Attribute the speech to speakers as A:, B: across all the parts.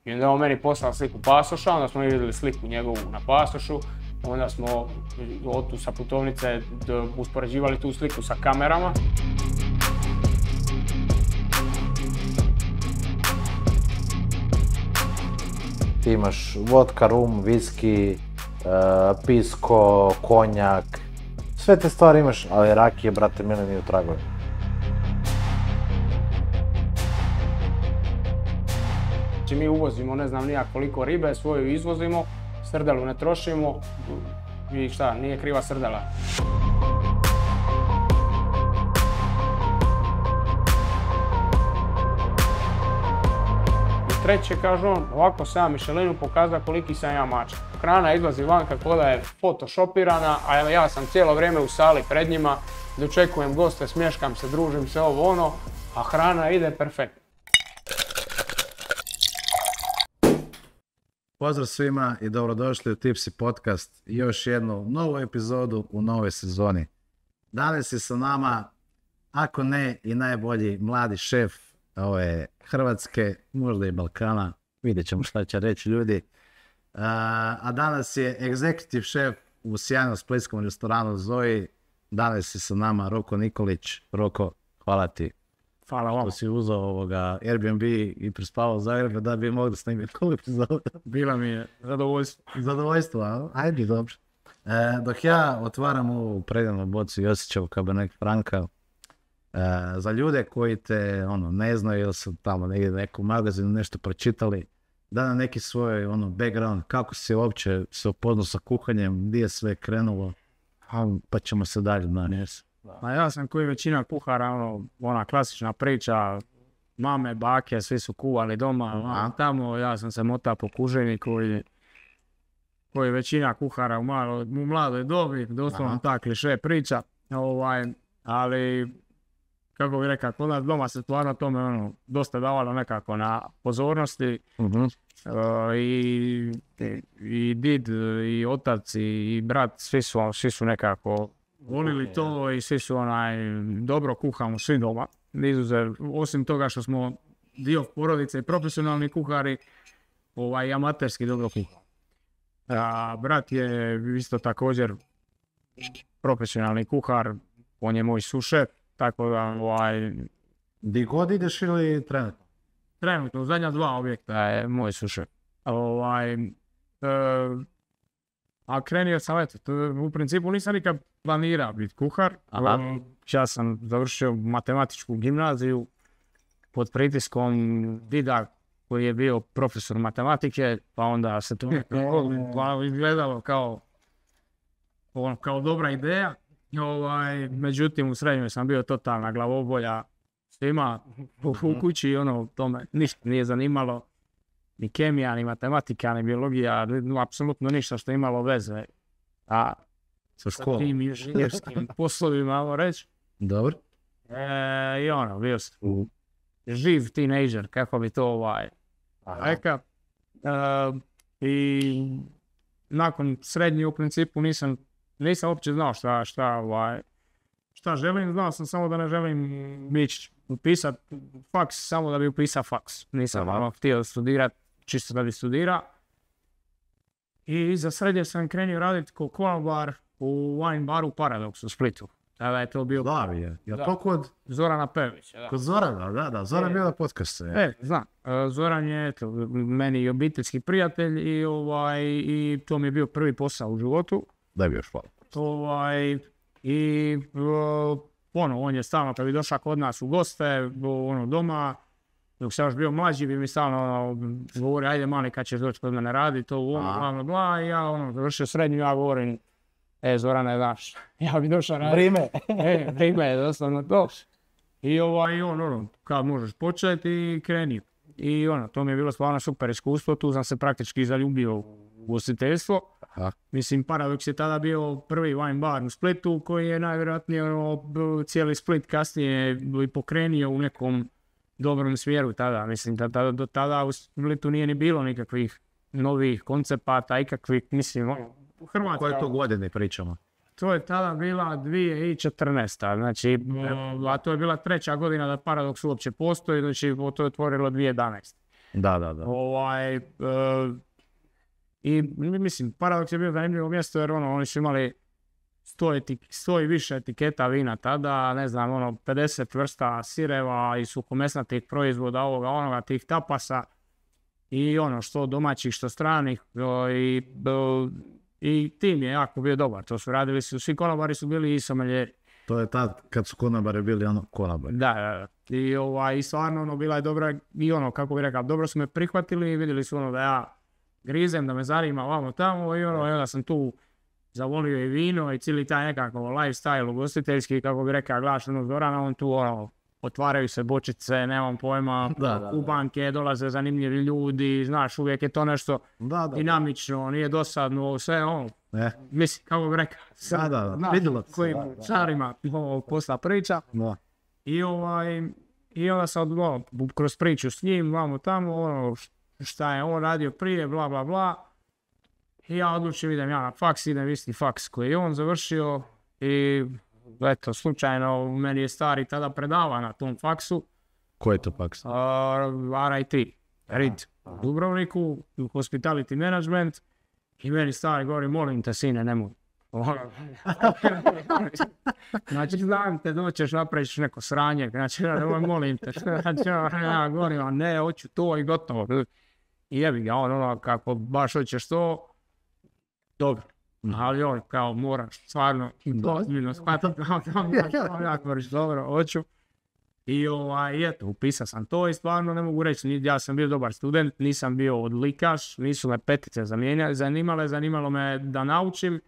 A: I onda je on meni poslao sliku pasoša, onda smo vidjeli sliku njegovu na pasošu, onda smo tu sa putovnice uspoređivali tu sliku sa kamerama.
B: Ti imaš vodka, rum, viski, pisko, konjak, sve te stvari imaš, ali rakije, brate mili, nije u tragovima.
A: Znači mi uvozimo ne znam nijak koliko ribe, svoju izvozimo, srdelu ne trošimo i šta, nije kriva srdela. I treće, kaže on, ovako sam ja Michelinu pokazao koliki sam ja mačak. Hrana izlazi van kako da je photoshopirana, a ja sam cijelo vrijeme u sali pred njima, dočekujem goste, smješkam se, družim se, ovo ono, a hrana ide perfektno.
B: Pozdrav svima i dobrodošli u Tipsy podcast i još jednu novu epizodu u novoj sezoni. Danas je sa nama, ako ne i najbolji mladi šef ove Hrvatske, možda i Balkana, vidjet ćemo šta će reći ljudi. A danas je executive šef u sjajnom splitskom restoranu Zoji. Danas je sa nama Roko Nikolić. Roko, hvala ti.
A: Hvala vam.
B: Što si uzeo Airbnb i prespavao Zagreb da bi mogli snimiti koliko epizoda.
A: Bila mi je zadovoljstvo.
B: Zadovoljstvo, a? Ajde, dobro. Dok ja otvaram ovu predivnu bocu Josićevu Cabernet Franca, za ljude koji te ne znaju ili su tamo negdje neku magazinu nešto pročitali, da na neki svoj background, kako si uopće se upoznao sa kuhanjem, gdje je sve krenulo, pa ćemo se dalje nanijeti.
A: A ja sam koji većina kuhara, ona klasična priča, mame, bake, svi su kuvali doma, tamo ja sam se motao po kužini koji većina kuhara u mladoj dobi, doslovno ta kliše priča, ali kako bih rekao, kod nas doma se stvarno tome dosta davalo nekako na pozornosti. I did, i otac, i brat, svi su nekako volili to i svi su dobro kuhamo svi doma. Izuzev, osim toga što smo dio porodice i profesionalni kuhari, i amaterski dobro kuhamo. Brat je isto također profesionalni kuhar, on je moj sušef, tako da
B: Di god ideš ili trenutno?
A: Trenutno, u zadnja 2 objekta je moj sušef. A krenio sam, u principu nisam nikad planirao biti kuhar. Ja sam završio matematičku gimnaziju pod pritiskom dida koji je bio profesor matematike, pa onda se to izgledalo kao dobra ideja. Međutim, u srednjoj sam bio totalna glavobolja svima u kući, to me ništa nije zanimalo. Ni kemija, ni matematika, ni biologija, apsolutno ništa što je imalo veze. Sa tim inženjerskim poslovima, ajmo reći.
B: Dobro.
A: I bio sam živ teenager, kako bi to rekao. I nakon srednje u principu nisam uopće znao šta želim, znao sam samo da ne želim upisati faks samo da bi upisao faks. Nisam htio studirati čisto da bi studirao. I za srednje sam krenio raditi kao konobar u wine baru Paradox u Splitu. Tada je to bio...
B: Je to kod...
A: Zorana Pevića,
B: Kod Zorana, da. Zoran je bio na podcastu.
A: Znam. Zoran je meni i obiteljski prijatelj i to mi je bio prvi posao u životu.
B: Daj bi još hvala.
A: On je stalno, kad bi došao kod nas u goste, doma, dok sam još bio mlađi, bi mi stalno govori, ajde mali kad ćeš doći kod mene raditi, i ja završio srednju, ja govorim, Zorane, znaš, ja bi došao raditi. Vrime je doslovno to. I kad možeš početi i kreni. I to mi je bilo stvarno super iskustvo, tu sam se praktički zaljubio u ugostiteljstvo. Mislim, Paradox je tada bio prvi wine bar u Splitu koji je najvjerojatnije cijeli Split kasnije i pokrenio u nekom dobrom smjeru tada. Mislim, do tada u Splitu nije ni bilo nikakvih novih koncepata, ikakvih, mislim, Hrvatska...
B: Koje to godine pričamo?
A: To je tada bila 2014. Znači, a to je bila 3. godina da Paradox uopće postoji, znači to je otvorilo 2011.
B: Da.
A: I mislim, Paradoks je bio zanimljivo mjesto jer oni su imali 100 i više etiketa vina tada, ne znam, 50 vrsta sireva i suhomesnatih proizvoda, onoga, tih tapasa i što domaćih, što stranih i tim je jako bio dobar. To su radili svi konobari su bili i someljeri.
B: To je tad kad su konobari bili konobari.
A: Da. I stvarno bila je dobra i kako bi rekao, dobro su me prihvatili i vidjeli su da ja grizem, da me zanima ovamo tamo i onda sam tu zavolio i vino i cijeli taj nekako lifestyle ugostiteljski, kako bi rekao, gledaš Zorana, on tu otvaraju se bočice, nemam pojma, kubanke, dolaze zanimljivi ljudi, znaš, uvijek je to nešto dinamično, nije dosadno, sve mislim, kako bi rekao,
B: vidjelo
A: kojim čarima posla priča. I onda sam kroz priču s njim, vamo tamo, šta je on radio prije, bla bla bla. I ja odlučim, idem ja na faks, idem isti faks koji je on završio i eto, slučajno meni je stari tada predava na tom faksu.
B: Koji je to faks?
A: RIT, u Dubrovniku, Hospitality Management i meni stari govori, molim te sine, nemoj. Znači, znam te, doćeš, napraviš neko sranje, znači, molim te, znači, ja govorim, ne, hoću to i gotovo. I jebi ga, kako baš hoćeš to, dobro, ali on kao moraš stvarno ozbiljno shvatiti, ja govoriš, dobro, hoću. I eto, upisao sam to i stvarno ne mogu reći, ja sam bio dobar student, nisam bio odlikaš, nisu me petice zanimalo me da naučim,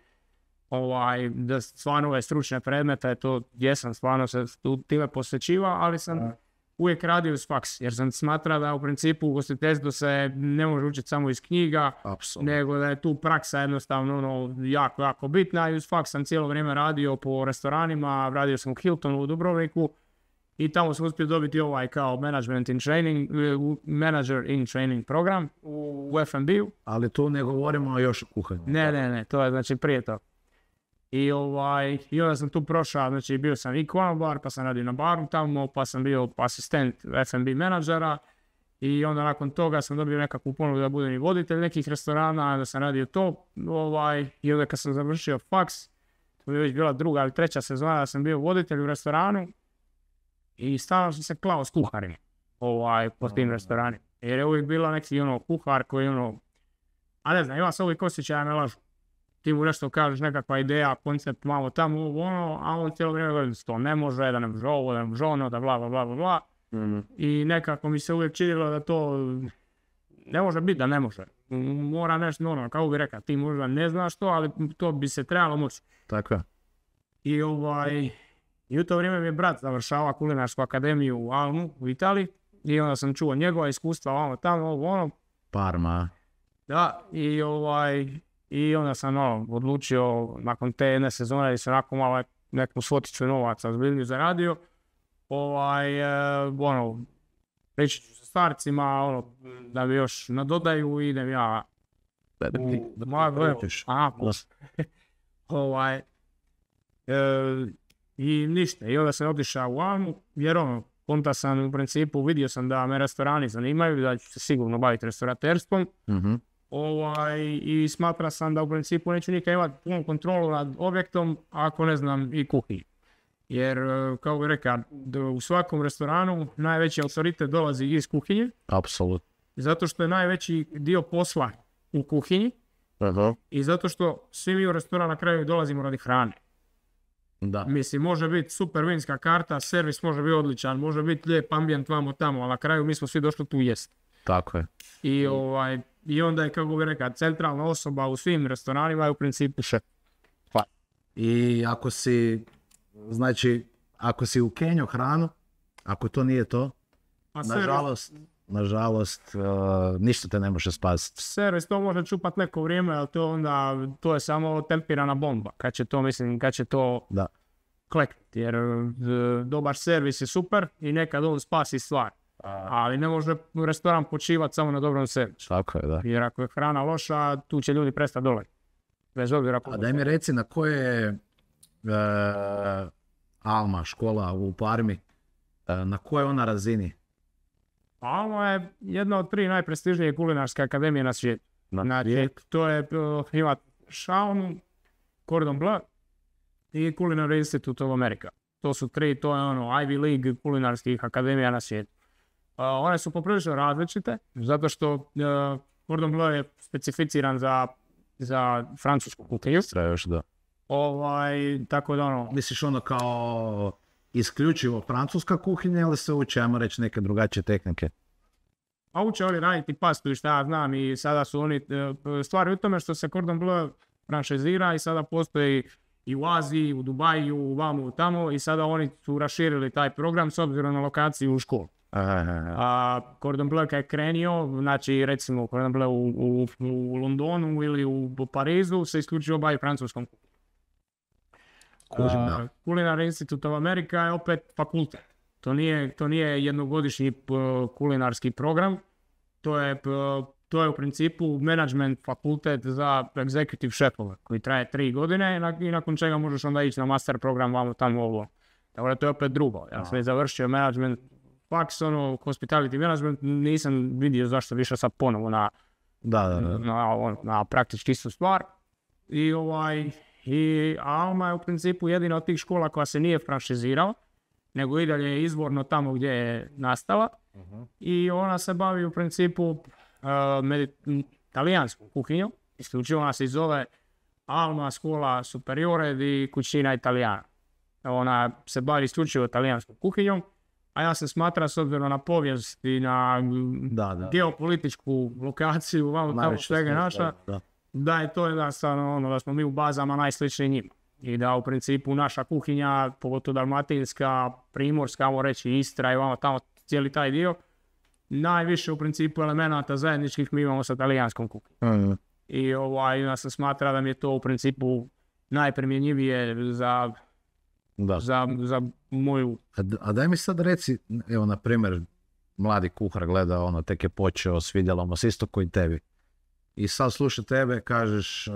A: da stvarno ove stručne predmete, to jesam stvarno se time posvećivao, ali sam uvijek radio uz faks, jer sam smatrao da u principu u ugostiteljstvu se ne može učiti samo iz knjiga, nego da je tu praksa jednostavno jako, jako bitna i uz faks sam cijelo vrijeme radio po restoranima, radio sam u Hiltonu u Dubrovniku i tamo sam uspio dobiti kao management in training, manager in training program u F&B-u.
B: Ali tu ne govorimo još o kuhanju.
A: Ne, to je znači prije to. I onda sam tu prošao, znači bio sam i konobar, pa sam radio na baru tamo, pa sam bio asistent F&B menadžera i onda nakon toga sam dobio nekakvu ponudu da budem i voditelj nekih restorana, da sam radio to i onda kad sam završio faks, to je već bila 2. ili 3. sezona da sam bio voditelj u restoranu i stalno sam se klao s kuharima po tim restoranima. Jer je uvijek bila neki kuhar koji a ne znam, ima se uvijek osjećaja ne lažu. Ti mu nešto kažeš, nekakva ideja, koncept, malo tamo, a on cijelo vrijeme govori da to ne može, da ne može ovo, da ne može ono, da bla bla bla bla. I nekako mi se uvijek činilo da to ne može biti da ne može. Mora nešto, kako bi rekao, ti možda ne znaš to, ali to bi se trebalo moći.
B: Tako je.
A: I u to vrijeme mi je brat završava kulinarsku akademiju u Almu, u Italiji, i onda sam čuo njegova iskustva, tamo,
B: Parma.
A: Da, i onda sam odlučio nakon te jedne sezone da sam onako malo neku svoticu novaca zbiljnju zaradio. Reći ću sa starcima da mi još nadodaju i idem ja i ništa. I onda sam otišao u Almu jer konta sam u principu, vidio sam da me restorani zanimaju, da ću se sigurno baviti restauraterstvom. I smatra sam da u principu neću nikad imati punu kontrolu nad objektom ako ne znam i kuhinju. Jer, kao bih rekao, u svakom restoranu najveći autoritet dolazi iz kuhinje.
B: Apsolutno.
A: Zato što je najveći dio posla u kuhinji. I zato što svi mi u restoran na kraju dolazimo radi hrane.
B: Da.
A: Mislim, može biti super vinska karta, servis može biti odličan, može biti lijep ambijent vamo tamo, ali na kraju mi smo svi došli tu jest.
B: Tako je.
A: I onda je, kako bih rekao, centralna osoba u svim restoranima je u principu šef.
B: I ako si ukenio hranu, ako to nije to, nažalost, ništa te ne može spasiti.
A: Servis to može čupat neko vrijeme, ali to je samo tempirana bomba. Kad će to kleknuti, jer dobar servis je super i nekad on spasi stvar. Ali ne može restoran počivati samo na dobrom servisu.
B: Tako je, da.
A: Jer ako je hrana loša, tu će ljudi prestati dolaziti. Bez obzira.
B: A daj mi reci na koje je Alma škola u Parmi, na kojoj ona razini?
A: Alma je jedna od 3 najprestižnije kulinarske akademije na svijetu. Znači, to je, ima Shaunu, Cordon Bleu i Culinary Institute of America. To su 3, to je Ivy League kulinarskih akademija na svijetu. One su poprilično različite, zato što Cordon Bleu je specificiran za francusku kuhinju.
B: Još da.
A: Tako da
B: Misliš kao isključivo francuska kuhinja ili se uče, ajmo reći, neke drugačije tehnike?
A: A uče oni raditi pastu i šta ja znam i sada su oni, stvari u tome što se Cordon Bleu franšizira i sada postoji i u Aziji, u Dubaju, vamo tamo i sada oni su raširili taj program s obzirom na lokaciju u školu. Cordon Bleu kad je krenio, znači recimo Cordon Bleu u Londonu ili u Parizu se isključivo bavi francuskom. Culinary Institute of America je opet fakultet. To nije jednogodišnji kulinarski program, to je u principu management fakultet za executive šefove koji traje 3 godine i nakon čega možeš onda ići na master program vamo tamo ovo. Tako da to je opet drugo. Ja sam završio management faks, hospitality management, nisam vidio zašto više sad ponovo na praktički istu stvar. I Alma je u principu jedina od tih škola koja se nije franšizirala, nego i dalje je izvorno tamo gdje je nastala. I ona se bavi u principu talijanskom kuhinjom. Isključivo ona se zove Alma Scuola Superiore di Cucina Italiana. Ona se bavi isključivo talijanskom kuhinjom, a ja se smatram s obzirom na povijest i na geopolitičku lokaciju, tamo svega naša, da je to jednostavno da smo mi u bazama najsličniji njima. I da u principu naša kuhinja, pogotovo dalmatinska, primorska, ajmo reći Istra i tamo cijeli taj dio, najviše u principu elemenata zajedničkih mi imamo sa talijanskom kuhinjom. I nas se smatra da mi je to u principu najprimjenjivije za moju...
B: A daj mi sad reci, evo na primjer, mladi kuhar gleda, tek je počeo, svidjelo mu se isto koji tebi. I sad sluša tebe, kažeš,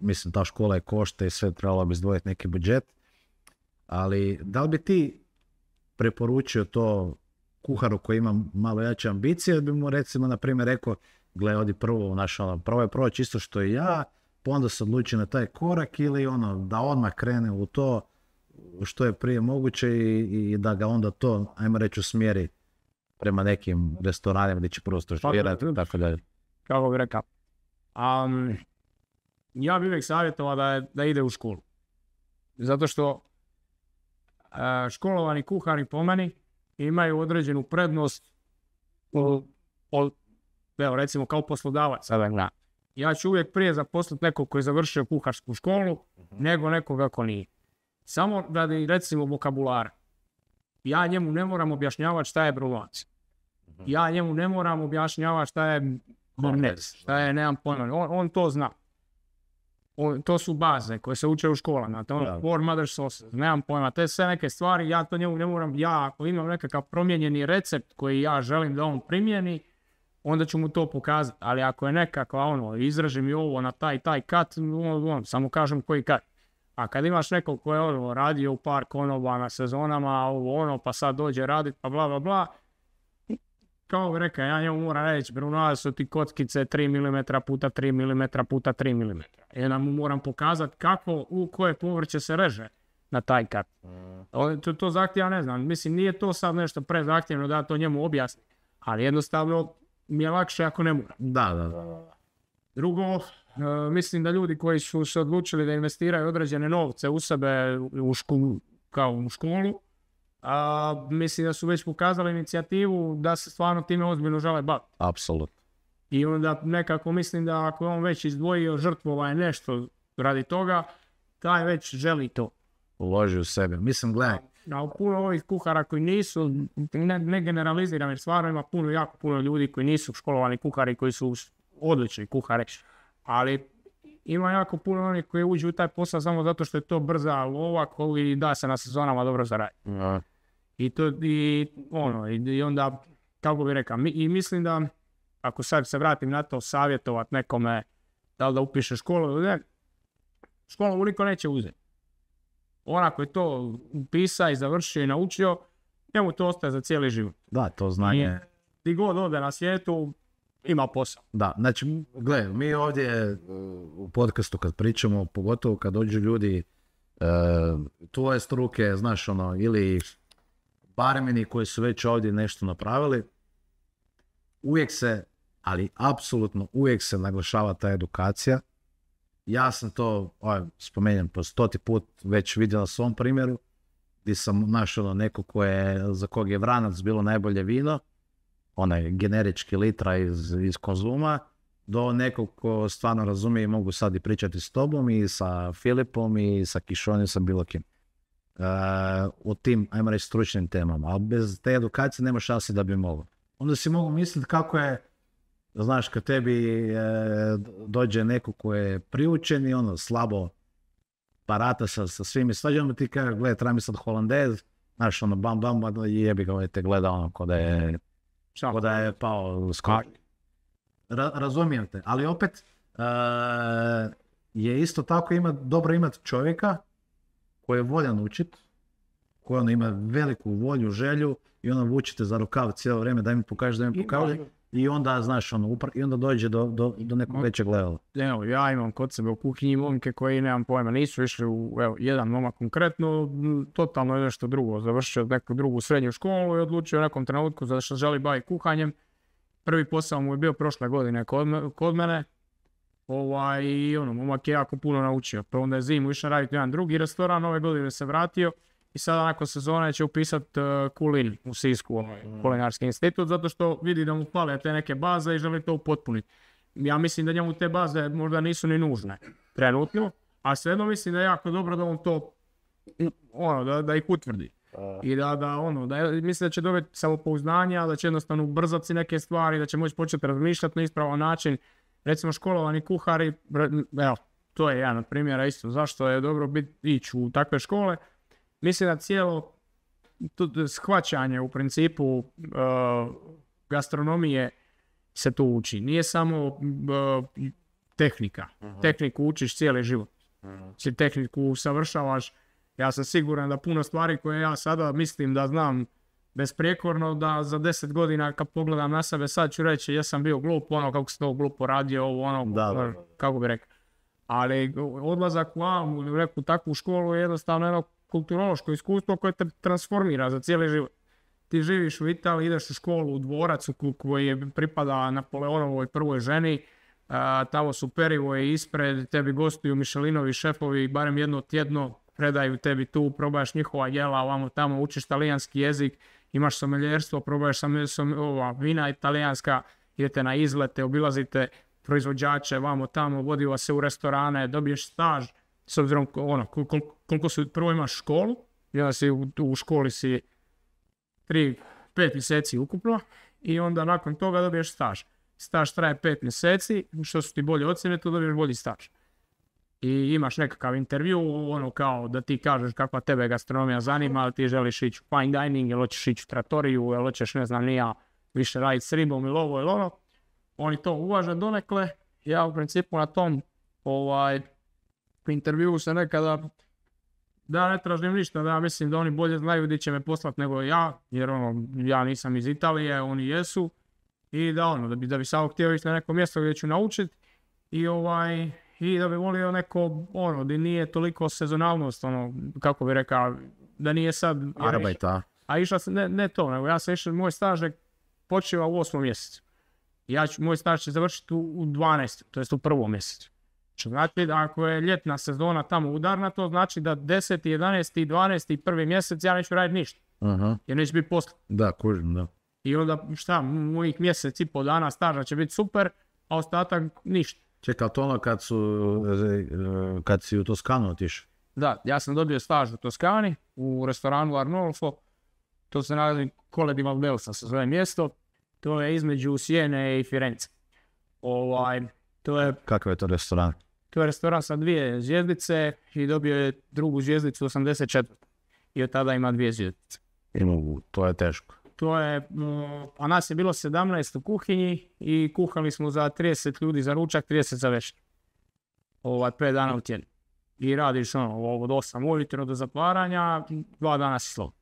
B: mislim ta škola je košta i sve, trebalo bi izdvojiti neki budžet, ali da li bi ti preporučio to kuharu koji ima malo jače ambicije, da bi mu recimo na primjer rekao, gle, odi prvo, prvo je proći isto što i ja, pa onda se odluči na taj korak ili da odmah krene u to što je prije moguće i da ga onda to, ajmo reći, usmjeri prema nekim restoranima gdje će prvo stažirati i tako dalje.
A: Kako bi rekao. Ja bih uvijek savjetovao da ide u školu. Zato što školovani kuhari po meni imaju određenu prednost evo recimo kao poslodavac. Ja ću uvijek prije zaposliti nekog koji je završio kuharsku školu nego nekoga ko nije. Samo radi recimo vokabulara. Ja njemu ne moram objašnjavati šta je brulanc. Ja njemu ne moram objašnjavati šta je Bornez, šta je, nemam pojma, on to zna. To su baze koje se uče u školama, four mother sauces, nemam pojma, te sve neke stvari, ja to njemu ne moram, ako imam nekakav promijenjeni recept koji ja želim da on primjeni, onda ću mu to pokazati, ali ako je nekakva izraži mi ovo na taj kat, samo kažem koji kat. A kad imaš nekog ko je radio u par konoba na sezonama, pa sad dođe raditi, pa bla bla bla, kao bi rekao, ja njemu moram reći, brunale su ti kockice 3 mm puta 3 mm puta 3 mm. I onda mu moram pokazati u koje povrće se reže na taj kat. To zahtjeva, ne znam, mislim, nije to sad nešto prezahtjevno da to njemu objasni, ali jednostavno mi je lakše ako ne moram.
B: Da.
A: Drugo, mislim da ljudi koji su se odlučili da investiraju određene novce u sebe kao u školu, mislim da su već pokazali inicijativu da se stvarno time ozbiljno žele baviti.
B: Apsolutno.
A: I onda nekako mislim da ako je on već izdvojio žrtvova nešto radi toga, taj već želi to.
B: Uloži u sebe. Mislim, gledaj.
A: A puno ovih kuhara koji nisu, ne generaliziram jer stvarno ima jako puno ljudi koji nisu školovani kuhari, koji su odlični kuhari, ali ima jako puno onih koji uđu u taj posao samo zato što je to brza lova koji da se na sezonama dobro zaradi. I onda, kako bi rekao, i mislim da ako sad se vratim na to savjetovat nekome da li da upiše školu ili ne, školu mu niko neće uzeti. Ona koji je to upisao i završio i naučio, njemu to ostaje za cijeli život.
B: Da, to znanje
A: Di god ode na svijetu, ima posao.
B: Da, znači, gle, mi ovdje u podcastu kad pričamo, pogotovo kad dođu ljudi tvoje struke, znaš ono, ili barmeni koji su već ovdje nešto napravili, uvijek se, ali apsolutno uvijek se naglašava ta edukacija. Ja sam to, spomenjem po 100. put već vidio na svom primjeru, gdje sam našao neko za kog je Vranac bilo najbolje vino, onaj generički litra iz Konzuma, do nekog ko stvarno razumije i mogu sad i pričati s tobom i sa Filipom i sa Kišonim, sa bilo kim. O tim, ajmo reći, stručnim temama, ali bez te edukacije nema šanse da bi mogao. Onda si mogu misliti kako je, znaš, kad tebi dođe neko ko je priučen i ono slabo parata sa svim i svađama, ti kaže, gledaj, treba mi sad holandez, znaš, ono, bam, i jebi ga, te gleda ono, ko da je pao skak. Razumijem te, ali opet je isto tako dobro imati čovjeka koji je voljan učit, koji ono ima veliku volju, želju i ono vučite za rukav cijelo vrijeme da mi pokaže, i onda, znaš, ono, i onda dođe do nekog većeg levela.
A: Evo, ja imam kod sebe u kuhinji momke koji, nemam pojma, nisu išli jedan momak konkretno, totalno je nešto drugo, završio neku drugu srednju školu i odlučio u nekom trenutku da se želi baviti kuhanjem. Prvi posao mu je bio prošle godine kod mene, i momak je jako puno naučio. Pa onda je zimu išao raditi jedan drugi restoran, ove godine se vratio i sada nakon sezone će upisati kulin u Sisku, kulinarski institut, zato što vidi da mu fale te neke baze i želi to upotpuniti. Ja mislim da njemu te baze možda nisu ni nužne trenutno, a svejedno mislim da je jako dobro da on to, da ih utvrdi. I mislim da će dobiti samopouzdanja, da će jednostavno ubrzati si neke stvari, da će moći početi razmišljati na ispravan način. Recimo školovani kuhari, evo, to je jedan od primjera isto, zašto je dobro ići u takve škole. Mislim da cijelo shvaćanje u principu gastronomije se tu uči. Nije samo tehnika. Tehniku učiš cijeli život. Tehniku usavršavaš. Ja sam siguran da puno stvari koje ja sada mislim da znam besprijekorno, da za 10 godina kad pogledam na sebe sad ću reći ja sam bio glup, kako se to glupo radio, kako bi rekao. Ali odlazak u Almu ili u neku takvu školu je jednostavno jedno kulturološko iskustvo koje te transformira za cijeli život. Ti živiš u Italiji, ideš u školu u dvorac koji pripada Napoleonovoj prvoj ženi, tamo su perivoje ispred, tebi gostuju Michelinovi šefovi barem jedno tjedno, predaju tebi tu, probaš njihova jela, ovamo tamo, učiš talijanski jezik, imaš someljerstvo, probaš vina italijanska, idete na izlete, obilazite proizvođače, vamo tamo, vodi vas se u restorane, dobiješ staž, s obzirom koliko su, prvo imaš školu, onda si u školi si 5 mjeseci ukupno i onda nakon toga dobiješ staž. Staž traje 5 mjeseci, što su ti bolje ocjene, to dobiješ bolji staž. I imaš nekakav intervju, kao da ti kažeš kakva tebe gastronomija zanima, ali ti želiš ići u fine dining, ili hoćeš ići u trattoriju, ili hoćeš, ne znam, nija više raditi s ribom ili ovo ili ono. Oni to uvaže donekle. Ja u principu na tom intervjuu se nekada da ne tražim ništa, da ja mislim da oni bolje znaju gdje će me poslati nego ja, jer ja nisam iz Italije, oni jesu. I da bi samo htio ići na neko mjesto gdje ću naučiti i da bi volio neko, gdje nije toliko sezonalnost, kako bi rekao, da nije sad...
B: Arbajta.
A: A išla sam, ne to, nego ja sam išao, moj staž je počeo u 8. mjesecu. Moj staž će završiti u 12. to jest u 1. mjesecu. Što znači da ako je ljetna sezona tamo udarna, to znači da 10., 11., 12. i 1. mjesec ja neću raditi ništa. Jer neće biti posla.
B: Da, kužim, da.
A: I onda mojih mjesec i pol dana staža će biti super, a ostatak ništa.
B: Čekaj, to kad si u Toskanu otišao?
A: Da, ja sam dobio staž u Toskani, u restoranu Arnolfo. To se nalazi Colle di Valdelsa, se zove mjesto. To je između Sijene i Firence.
B: Kakav je to restoran?
A: To je restoran sa 2 zvjezdice i dobio je drugu zvjezdicu 84. I od tada ima 2 zvjezdice.
B: To je teško.
A: A nas je bilo 17 u kuhinji i kuhali smo za 30 ljudi za ručak, 30 za večer. 5 dana u tjednu. I radiš od 8 ujutro do zatvaranja, 2 dana si slobodan.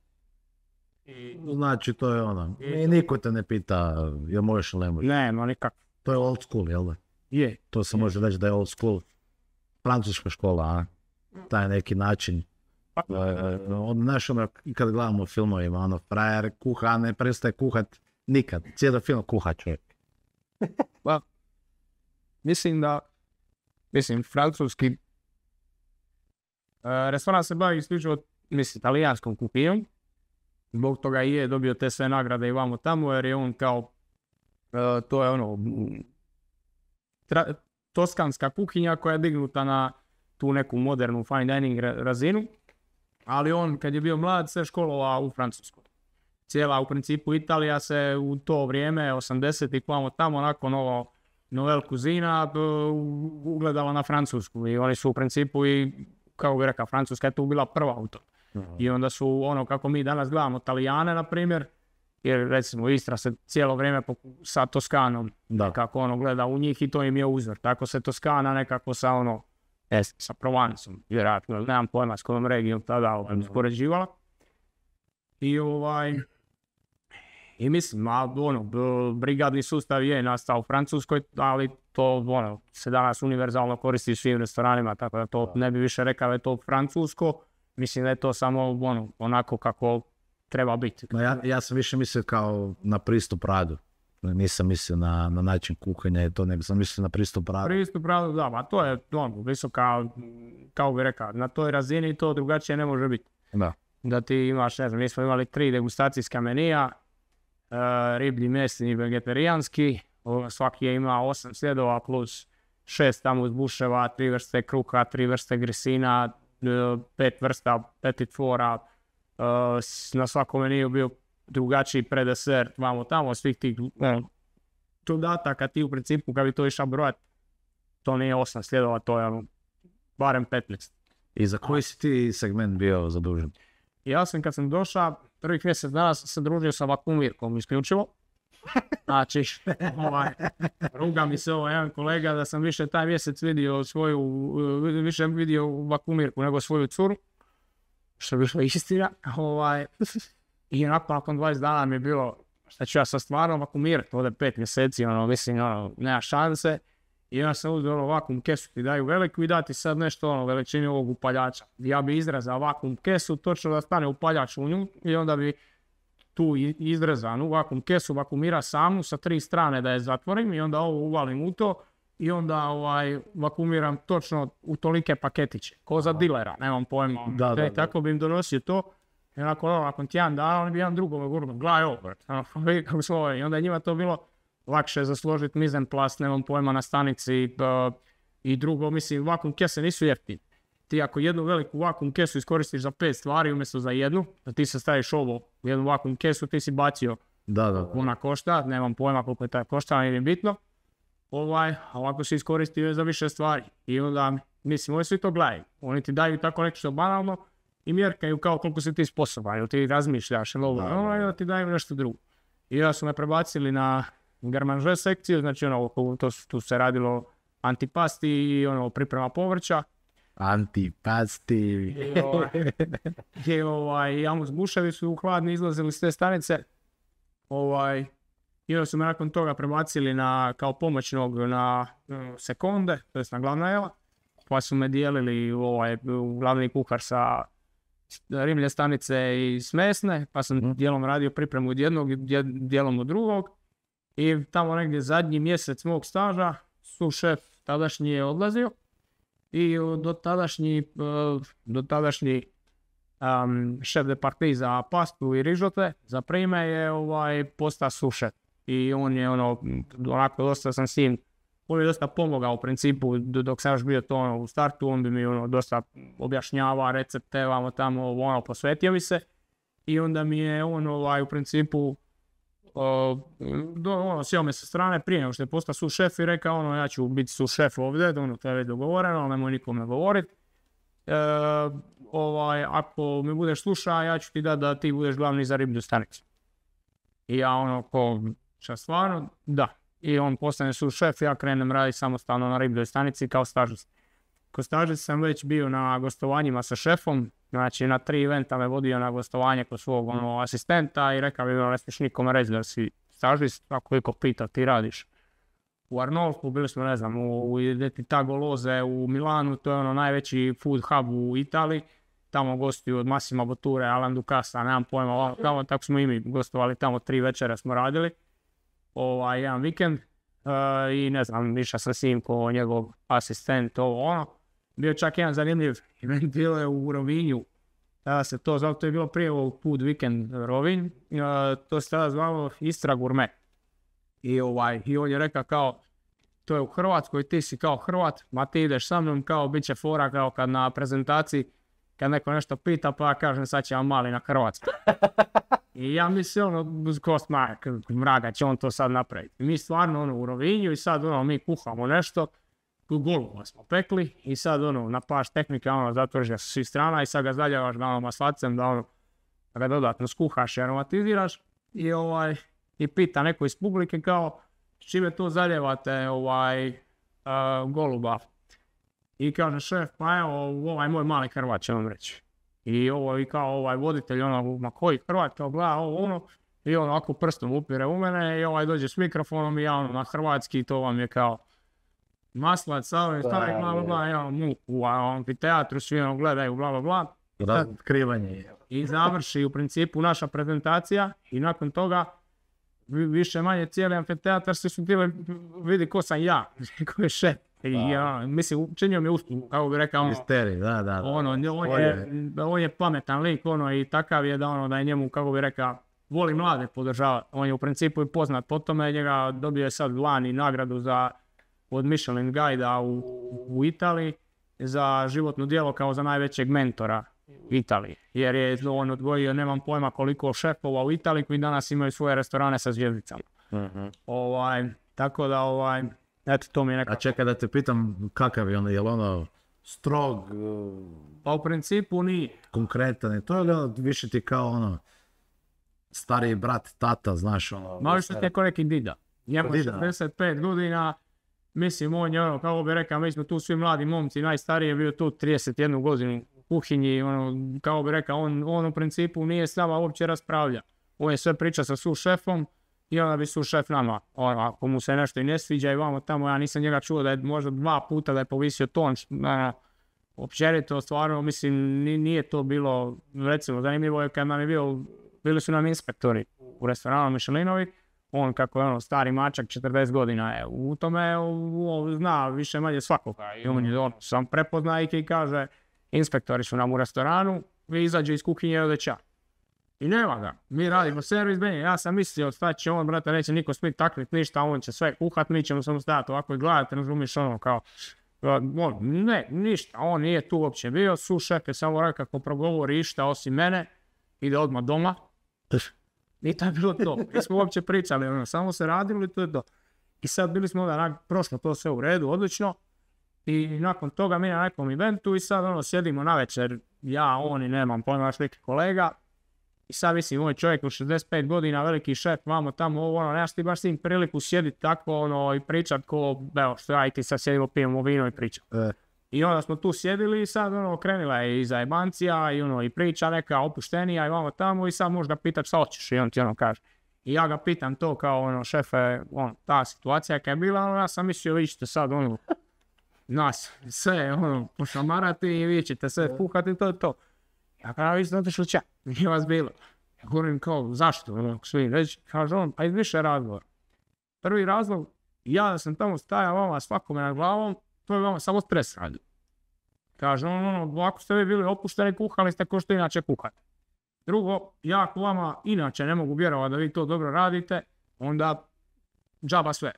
B: Znači to je ono, i niko te ne pita jel možeš ili ne možeš.
A: Ne, no nikak.
B: To je old school, jel da?
A: Je.
B: To se može reći da je old school. Francuska škola, a? Taj neki način. Znaš ono, kad gledamo u filmovima, ono, frajer kuha, ne prestaje kuhat nikad. Cijeli film kuha čovjek.
A: Pa, mislim, francuski restoran se bavi isključivo, talijanskom kuhinjom. Zbog toga i je dobio te sve nagrade i vamo tamo, jer je on kao, to je ono, toskanska kuhinja koja je dignuta na tu neku modernu fine dining razinu, ali on kad je bio mlad se školovao u Francuskoj. Cijela u principu Italija se u to vrijeme, 80-ih vamo tamo, nakon ovo Novel Cuisina, ugledala na Francusku i oni su u principu i, kao bi rekao, Francuska je tu bila prva u to. I onda su ono kako mi danas gledamo Talijane, na primjer, jer recimo Istra se cijelo vrijeme sa Toskanom kako ono gleda u njih i to im je uzor. Tako se Toskana nekako sa ono, sa Provancom, vjerojatno, nemam pojma s kojom regijom tada uspoređivala. I mislim, brigadni sustav je nastao u Francuskoj, ali to se danas univerzalno koristi u svim restoranima, tako da to ne bi više rekao da je to francusko. Mislim da je to samo onako kako treba biti.
B: Ja sam više mislio kao na pristup radu. Nisam mislio na način kuhanja i to, nego sam mislio na pristup radu.
A: Pristup radu, da, a to je visoka, kao bi rekao, na toj razini to drugačije ne može biti. Da ti imaš, ne znam, mi smo imali 3 degustacijska menija, riblji, mesni i vegetarijanski, svaki je imao 8 sljedova plus 6 tamo uz buševa, 3 vrste kruha, 3 vrste grisina, 5 vrsta petit fora, na svakom meniju bio drugačiji predesert, vamo tamo, svih tih dodataka ti u principu kad bi to išao brojat, to nije 8 sljedova, to je barem 15.
B: I za koji si ti segment bio zadužen?
A: Ja sam kad sam došao, prvih mjesec dana sam se družio sa vakuumirkom isključivo. Znači, ruga mi se jedan kolega da sam više taj mjesec vidio više vidio vakuumirku nego svoju curu, što je bilo istina. I nakon 20 dana mi je bilo, šta ću ja sad stvarno vakuumirati, ovdje 5 mjeseci, nema šanse. I ja sam uzeo vakuum kesu, ti daju veliku i dati sad nešto veličini ovog upaljača. Ja bi izrezao vakuum kesu, točno da stane upaljač u nju i onda bi tu izrezanu vakuum kesu vakuumira samu sa 3 strane da je zatvorim i onda ovo uvalim u to i onda vakuumiram točno u tolike paketiće, ko za dilera, nemam pojma. Tako bi im donosio to i nakon tjedan dana oni bi jedan drugome govorio, gledaj ovo, i onda je njima to bilo lakše za složiti mizen plast, nemam pojma, na stanici i drugo, mislim, vakuum kese nisu jeftine. Ti ako jednu veliku vakuum kesu iskoristiš za 5 stvari umjesto za jednu, da ti se staviš ovo u jednu vakuum kesu, ti si bacio. Ona košta, nemam pojma koliko je taj košta, nije bitno. A ovako si iskoristio za više stvari. I onda, mislim, oni svi to gledaju. Oni ti daju tako nešto banalno i mjerkaju kao koliko si ti sposoban, ili ti razmišljaš, ili ti daju nešto drugo. I onda su me prebacili na garmanže sekciju, znači tu se radilo antipasti i priprema povrća.
B: Antipasti.
A: I jamus buševi su hladni izlazili s te stanice. I onda su me nakon toga prebacili kao pomoćnog na sekonde, to je na glavna jela. Pa su me dijelili u glavni kuhar sa rimlje stanice i smesne, pa sam dijelom radio pripremu od jednog i dijelom od drugog. I tamo negdje zadnji mjesec mog staža su šef tadašnji je odlazio i do tadašnji šef de partie za pastu i rižote za prime je postao sušef. I on je onako dosta sam s njim, on je dosta pomogao u principu dok sam još bio to u startu, on bi mi dosta objašnjava recepte, tamo, posvetio mi se. I onda mi je on u principu sjeo me sa strane prije nego što je postao su šef i rekao ja ću biti su šef ovdje, to je već dogovoreno, ali nemoj nikome govoriti. Ako me budeš slušao, ja ću ti dati da ti budeš glavni za riblju stanicu. I ja šta stvarno? Da. I on postane su šef, ja krenem raditi samostalno na ribljoj stanici kao stažist. Kao stažist sam već bio na gostovanjima sa šefom, Znači na 3 eventa me vodio na gostovanje kod svog asistenta i rekao mi ne smiješ nikome reći da si stažist, ako iko pita ti radiš u Arnolfu, bili smo ne znam u Identità Golose u Milanu, to je najveći food hub u Italiji, tamo gostuju od Massimo Botture, Alain Ducasa, nemam pojma, tamo, tako smo i mi gostovali, tamo 3 večera smo radili, jedan vikend i ne znam, išao sam s njim ko njegov asistent, bio čak jedan zanimljiv event, bilo je u Rovinju, tada se to zvalo, to je bilo prije ovog Food Weekend Rovinj, to se tada zvalo Istra Gourmet. I on je rekao kao, to je u Hrvatskoj, ti si kao Hrvat, ma ti ideš sa mnom, kao bit će fora kao kad na prezentaciji, kad neko nešto pita, pa ja kažem sad će vam mali na Hrvatsku. I ja mislim, kost mraga će on to sad napraviti. Mi stvarno u Rovinju i sad mi kuhamo nešto, goluba smo pekli i sad na paš tehnika zatvrže sa svih strana i sad ga zaljavaš maslacem da ga dodatno skuhaš i aromatiziraš i pita neko iz publike kao s čime to zaljevate goluba. I kaže šef, pa evo moj mali Hrvat će vam reći. I kao voditelj ma koji Hrvat, kao gleda i on ovako prstom upire u mene i dođe s mikrofonom i ja na hrvatski, to vam je kao maslac, stavim, u amfiteatru, svi gledaju, bla bla bla.
B: Razotkrivanje.
A: I završi u principu naša prezentacija i nakon toga više manje cijeli amfiteatar svi su htjeli vidi ko sam ja, ko je šef. I mislim, učinio mi uslugu, kako bi rekao,
B: misteri, da.
A: On je pametan lik, i takav je da je njemu, kako bi rekao, voli mlade podržavati. On je u principu i poznat po tome, njega dobio je sad lani nagradu od Michelin Guida u Italiji za životno djelo kao za najvećeg mentora u Italiji. Jer je on odvojio, nemam pojma koliko šefova u Italiji koji danas imaju svoje restorane sa zvjezdicama. Tako da, eto, to mi je nekako.
B: A čekaj da te pitam, kakav je je li strog?
A: Pa u principu nije.
B: Konkretan, to je li više ti kao stariji brat, tata, znaš
A: Malo što je ko neki dida. Njemu 65 godina, mislim, on je kako bi rekao, mi smo tu svi mladi momci, najstariji je bio tu 31 godinu u kuhinji, kako bi rekao, on u principu nije s nama uopće raspravlja. On je sve priča sa su šefom, i onda bi su šef nama, ako mu se nešto i ne sviđa i vamo tamo, ja nisam njega čuo da je možda 2 puta da je povisio ton, općenito stvarno, mislim, nije to bilo, recimo, zanimljivo je kad nam je bili su nam inspektori u restoranu Michelinovi, on kako je stari mačak, 40 godina je, u tome zna više manje svakoga i on je sam prepozna i kaže, inspektori su nam u restoranu, vi izađe iz kuhinje i ode ča. I nema ga, mi radimo servis, ja sam mislio šta će on, brate, neće niko smit takvit ništa, on će sve kuhat, mi ćemo samo stajati ovako i gledati, razumiš kao, ne, ništa, on nije tu uopće bio, su šef je samo rekao kako progovori išta osim mene, ide odmah doma, i to je bilo to, mi smo uopće pričali, samo se radili, to je to. I sad bili smo onda, prošlo to sve u redu, odlično, i nakon toga mi na nekom eventu i sad sjedimo na večer, ja, on i nemam pojma, još neki kolega. I sad mislim, ovaj čovjek u 65 godina, veliki šef, vamo tamo, nemaš ti baš s tim priliku sjediti tako, i pričat ko, evo, što ja i ti sad sjedimo, pijemo vino i pričam. I onda smo tu sjedili i sad, krenula je i zajebancija i priča neka opuštenija i vamo tamo i sad možda pitat šta hoćeš i on ti kaže. I ja ga pitam to kao, šefe, ta situacija kad je bila, ja sam mislio, vi ćete sad, nas, sve, pošamarati i vi ćete sve puhati, to je to. Ja kada vi ste otišli čak, nije vas bilo. Ja govorim kao, zašto? Svi reći, kaže on, pa iz više razloga. Prvi razlog, ja da sam tamo stajao vama svakome na glavom, to je vama samo stres radio. Kaže on, ako ste vi bili opušteni, kuhali ste ko što inače kuhate. Drugo, ja ako vama inače ne mogu vjerovati da vi to dobro radite, onda džaba sve.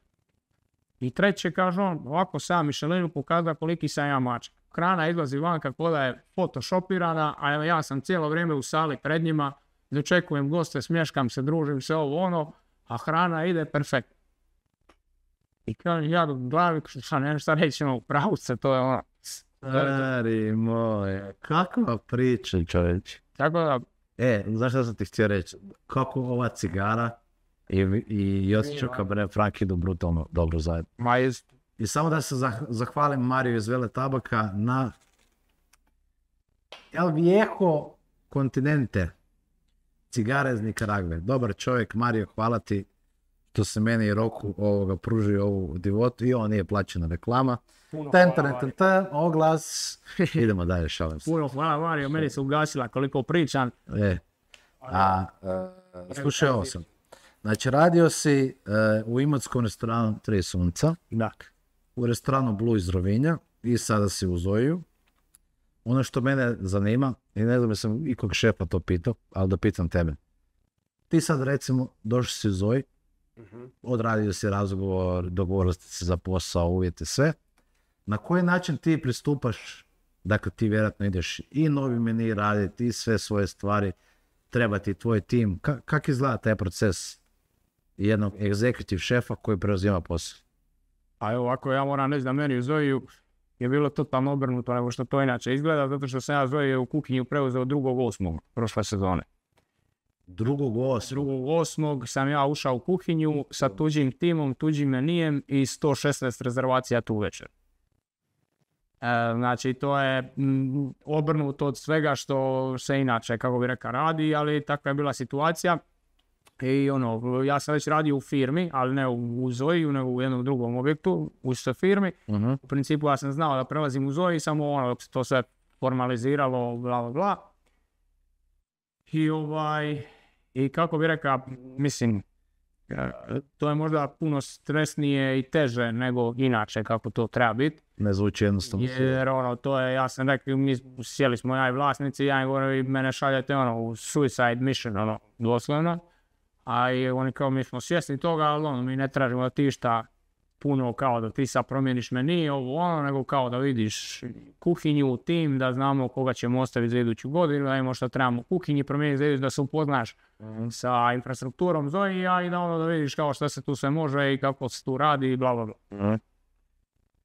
A: I treće, kaže on, ovako sam Michelinu pokazao koliki sam ja mačak. Hrana izlazi van kako da je photoshopirana, a ja sam cijelo vrijeme u sali pred njima, dočekujem goste, smješkam se, družim se a hrana ide perfektno. I kažem, ja do glavi, šta reći, pravu se, to je
B: Stari moje, kakva priča, čovječ.
A: Tako da...
B: Znaš šta sam ti htio reći? Kako ova cigara i Josić Cabernet Franc idu brutalno dobro zajedno. I samo da se zahvalim Mariju iz Vele Tabaka na El Viejo Continente, cigare iz Nikaragve. Dobar čovjek, Mario, hvala ti što se meni i Roku pružio ovu divotu i ovo nije plaćena reklama. Oglas. Idemo dalje, šalim se.
A: Puno hvala Mario, meni se ugasila koliko pričam.
B: Slušaj ovo sam. Znači, radio si u imotskom restoranu Tri sunca, u restoranu Blue iz Rovinja i sada si u Zoiju. Ono što mene zanima, i ne znam da sam ikog šefa to pitao, ali da pitam tebe. Ti sad recimo došli si u Zoji, odradio si razgovor, dogovorili ste se za posao, uvjete, sve. Na koji način ti pristupaš, dakle ti vjerojatno ideš i novi meni raditi i sve svoje stvari, treba ti tvoj tim. Kako izgleda taj proces jednog executive šefa koji preuzima posao?
A: A evo ovako, ja moram reći da meni u Zoiju je bilo totalno obrnuto nego što to inače izgleda, zato što sam ja Zoju u kuhinju preuzeo 2.8. prošle sezone. 2.8. sam ja ušao u kuhinju sa tuđim timom, tuđim menijem i 116 rezervacija tu večer. Znači to je obrnuto od svega što se inače, kako bi rekao, radi, ali takva je bila situacija. I ja sam već radio u firmi, ali ne u Zoiju, nego u jednom drugom objektu, u istoj firmi. U principu ja sam znao da prelazim u Zoji, samo dok se to sve formaliziralo, bla bla bla. I kako bi rekao, mislim, to je možda puno stresnije i teže nego inače kako to treba biti.
B: Ne zvuči jednostavno.
A: Jer to je, ja sam rekao, mi sjeli smo ja i vlasnici, ja im govorim, mene šaljete u suicide mission, doslovno. A i oni kao, mi smo svjesni toga, ali mi ne tražimo da ti šta puno kao da ti sad promijeniš meni, nego kao da vidiš kuhinju, tim, da znamo koga ćemo ostaviti za iduću godinu, da imamo što trebamo u kuhinji promijeniti, za iduću, da se upoznaš sa infrastrukturom Zoija i da vidiš kao što se tu sve može i kako se tu radi i bla bla bla.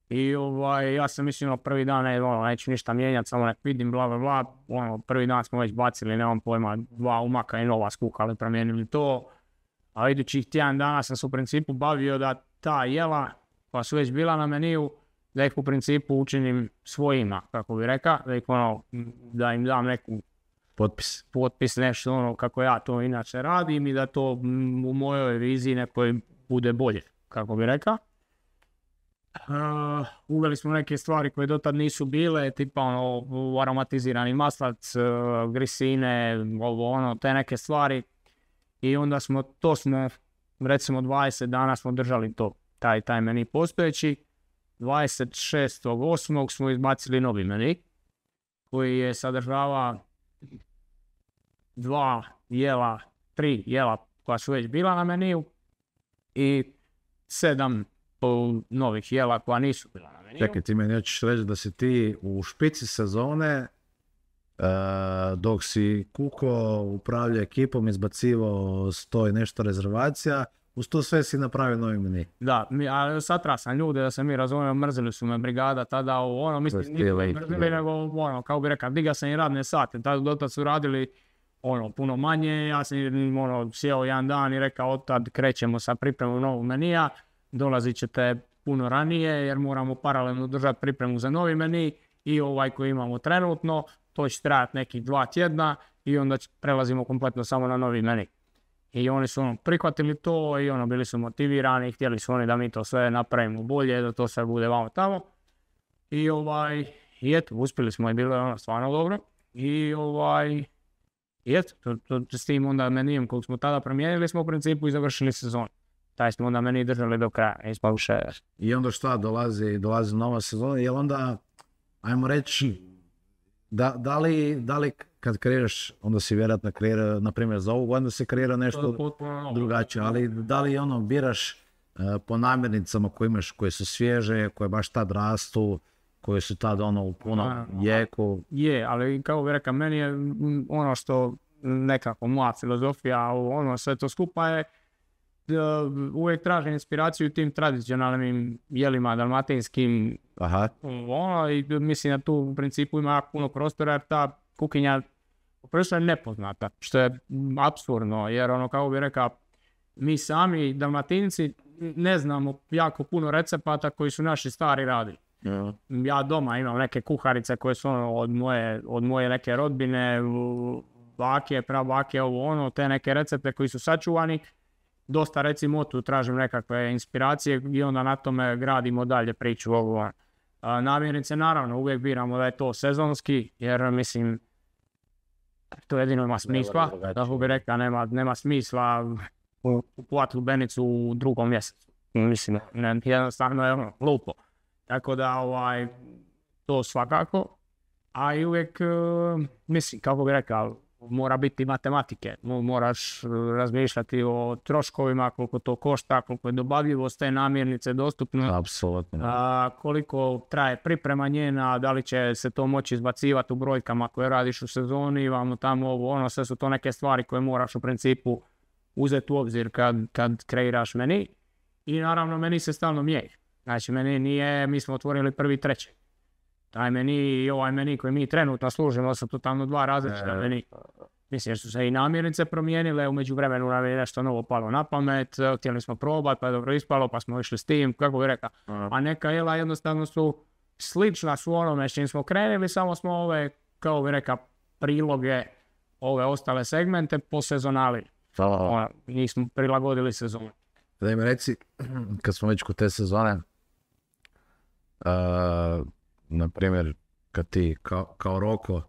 A: I ja sam mislio prvi dan, neću ništa mijenjati, samo nek vidim, bla bla bla, prvi dan smo već bacili, nemam pojma, 2 umaka i nova skukali, promijenili to, a idućih tjedan dana sam se u principu bavio da ta jela koja su već bila na meniju, da ih u principu učinim svojima, kako bi rekao, da im dam neku potpis, nešto kako ja to inače radim i da to u mojoj viziji nekoj bude bolje, kako bi rekao. Uveli smo neke stvari koje dotad nisu bile, tipa aromatizirani maslac, grisine, te neke stvari. I onda smo recimo 20 dana smo držali to, taj meni postojeći. 26.8. smo izbacili novi meni, koji je sadržava 3 jela koja su već bila na meniju i 7 novih jela koja nisu bila na meniju.
B: Čekaj, ti meni hoćeš reći da si ti u špici sezone, dok si kuko upravljao ekipom, izbacivao 100 i nešto rezervacija, uz to sve si napravio novi meni.
A: Da, satra sam ljude da se mi razumijemo, mrzili su me brigada tada, mislim, mrzili nego, kao bi rekao, diga sam i radne sate, dotad su radili puno manje, ja sam sjeo jedan dan i rekao, otad krećemo sa pripremom novog menija, dolazit ćete puno ranije jer moramo paralelno držati pripremu za novi meni i ovaj koji imamo trenutno, to će trajati nekih 2 tjedna i onda prelazimo kompletno samo na novi meni. I oni su prihvatili to i bili su motivirani, htjeli su oni da mi to sve napravimo bolje, da to sve bude vamo tamo. I eto, uspjeli smo i bilo je stvarno dobro. I eto, s tim onda menijem kog smo tada promijenili smo u principu i završili sezon. Taj smo onda meni držali do kraja, nismo više.
B: I onda šta, dolazi nova sezona, jel onda, ajmo reći, da li kad kreiraš, onda si vjerojatno kreira, na primjer za ovu godinu se kreira nešto drugačije, ali da li biraš po namirnicama koje imaš, koje su svježe, koje baš tad rastu, koje su tad u punom jeku?
A: Je, ali kao bi rekao, meni je što nekako moja filozofija, sve to skupa je, uvijek tražim inspiraciju tim tradicionalnim jelima dalmatinskim. I mislim da tu u principu ima puno prostora jer ta kuhinja prvo je nepoznata, što je apsurdno jer kako bi rekao, mi sami Dalmatinci ne znamo jako puno recepata koji su naši stari radili. Ja doma imam neke kuharice koje su ono, od moje neke rodbine, bake, prabake, ovo ono, te neke recepte koji su sačuvani. Dosta recimo tu tražim nekakve inspiracije i onda na tome gradimo dalje priču ovo. Namirnice naravno uvijek biramo da je to sezonski, jer mislim to jedino ima smisla, tako bi rekao, nema smisla kupovati lubenicu u 2. mjesecu. Mislim, jednostavno je ono, glupo. Tako da to svakako, a i uvijek, mislim, kako bi rekao, mora biti matematike, moraš razmišljati o troškovima, koliko to košta, koliko je dobavljivost te namirnice dostupno.
B: Apsolutno.
A: Koliko traje priprema njena, da li će se to moći izbacivati u brojkama koje radiš u sezoni, vamo tamo ovo, ono, sve su to neke stvari koje moraš u principu uzeti u obzir kad kreiraš meni. I naravno meni se stalno mijenja. Znači meni nije, mi smo otvorili 1.3. Taj meni i ovaj meni koji mi trenutno služimo su totalno 2 različita meni. Mislim jer su se i namirnice promijenile, u međuvremenu nam je nešto novo palo na pamet, htjeli smo probati pa je dobro ispalo pa smo išli s tim, kako bi rekao. A neka jela jednostavno su slična su onome s čim smo krenuli, samo smo ove, kao bi rekao, priloge, ove ostale segmente posezonali. Njih smo prilagodili sezonu.
B: Da mi reci, kad smo već kod te sezone, na primjer, kad ti kao Roko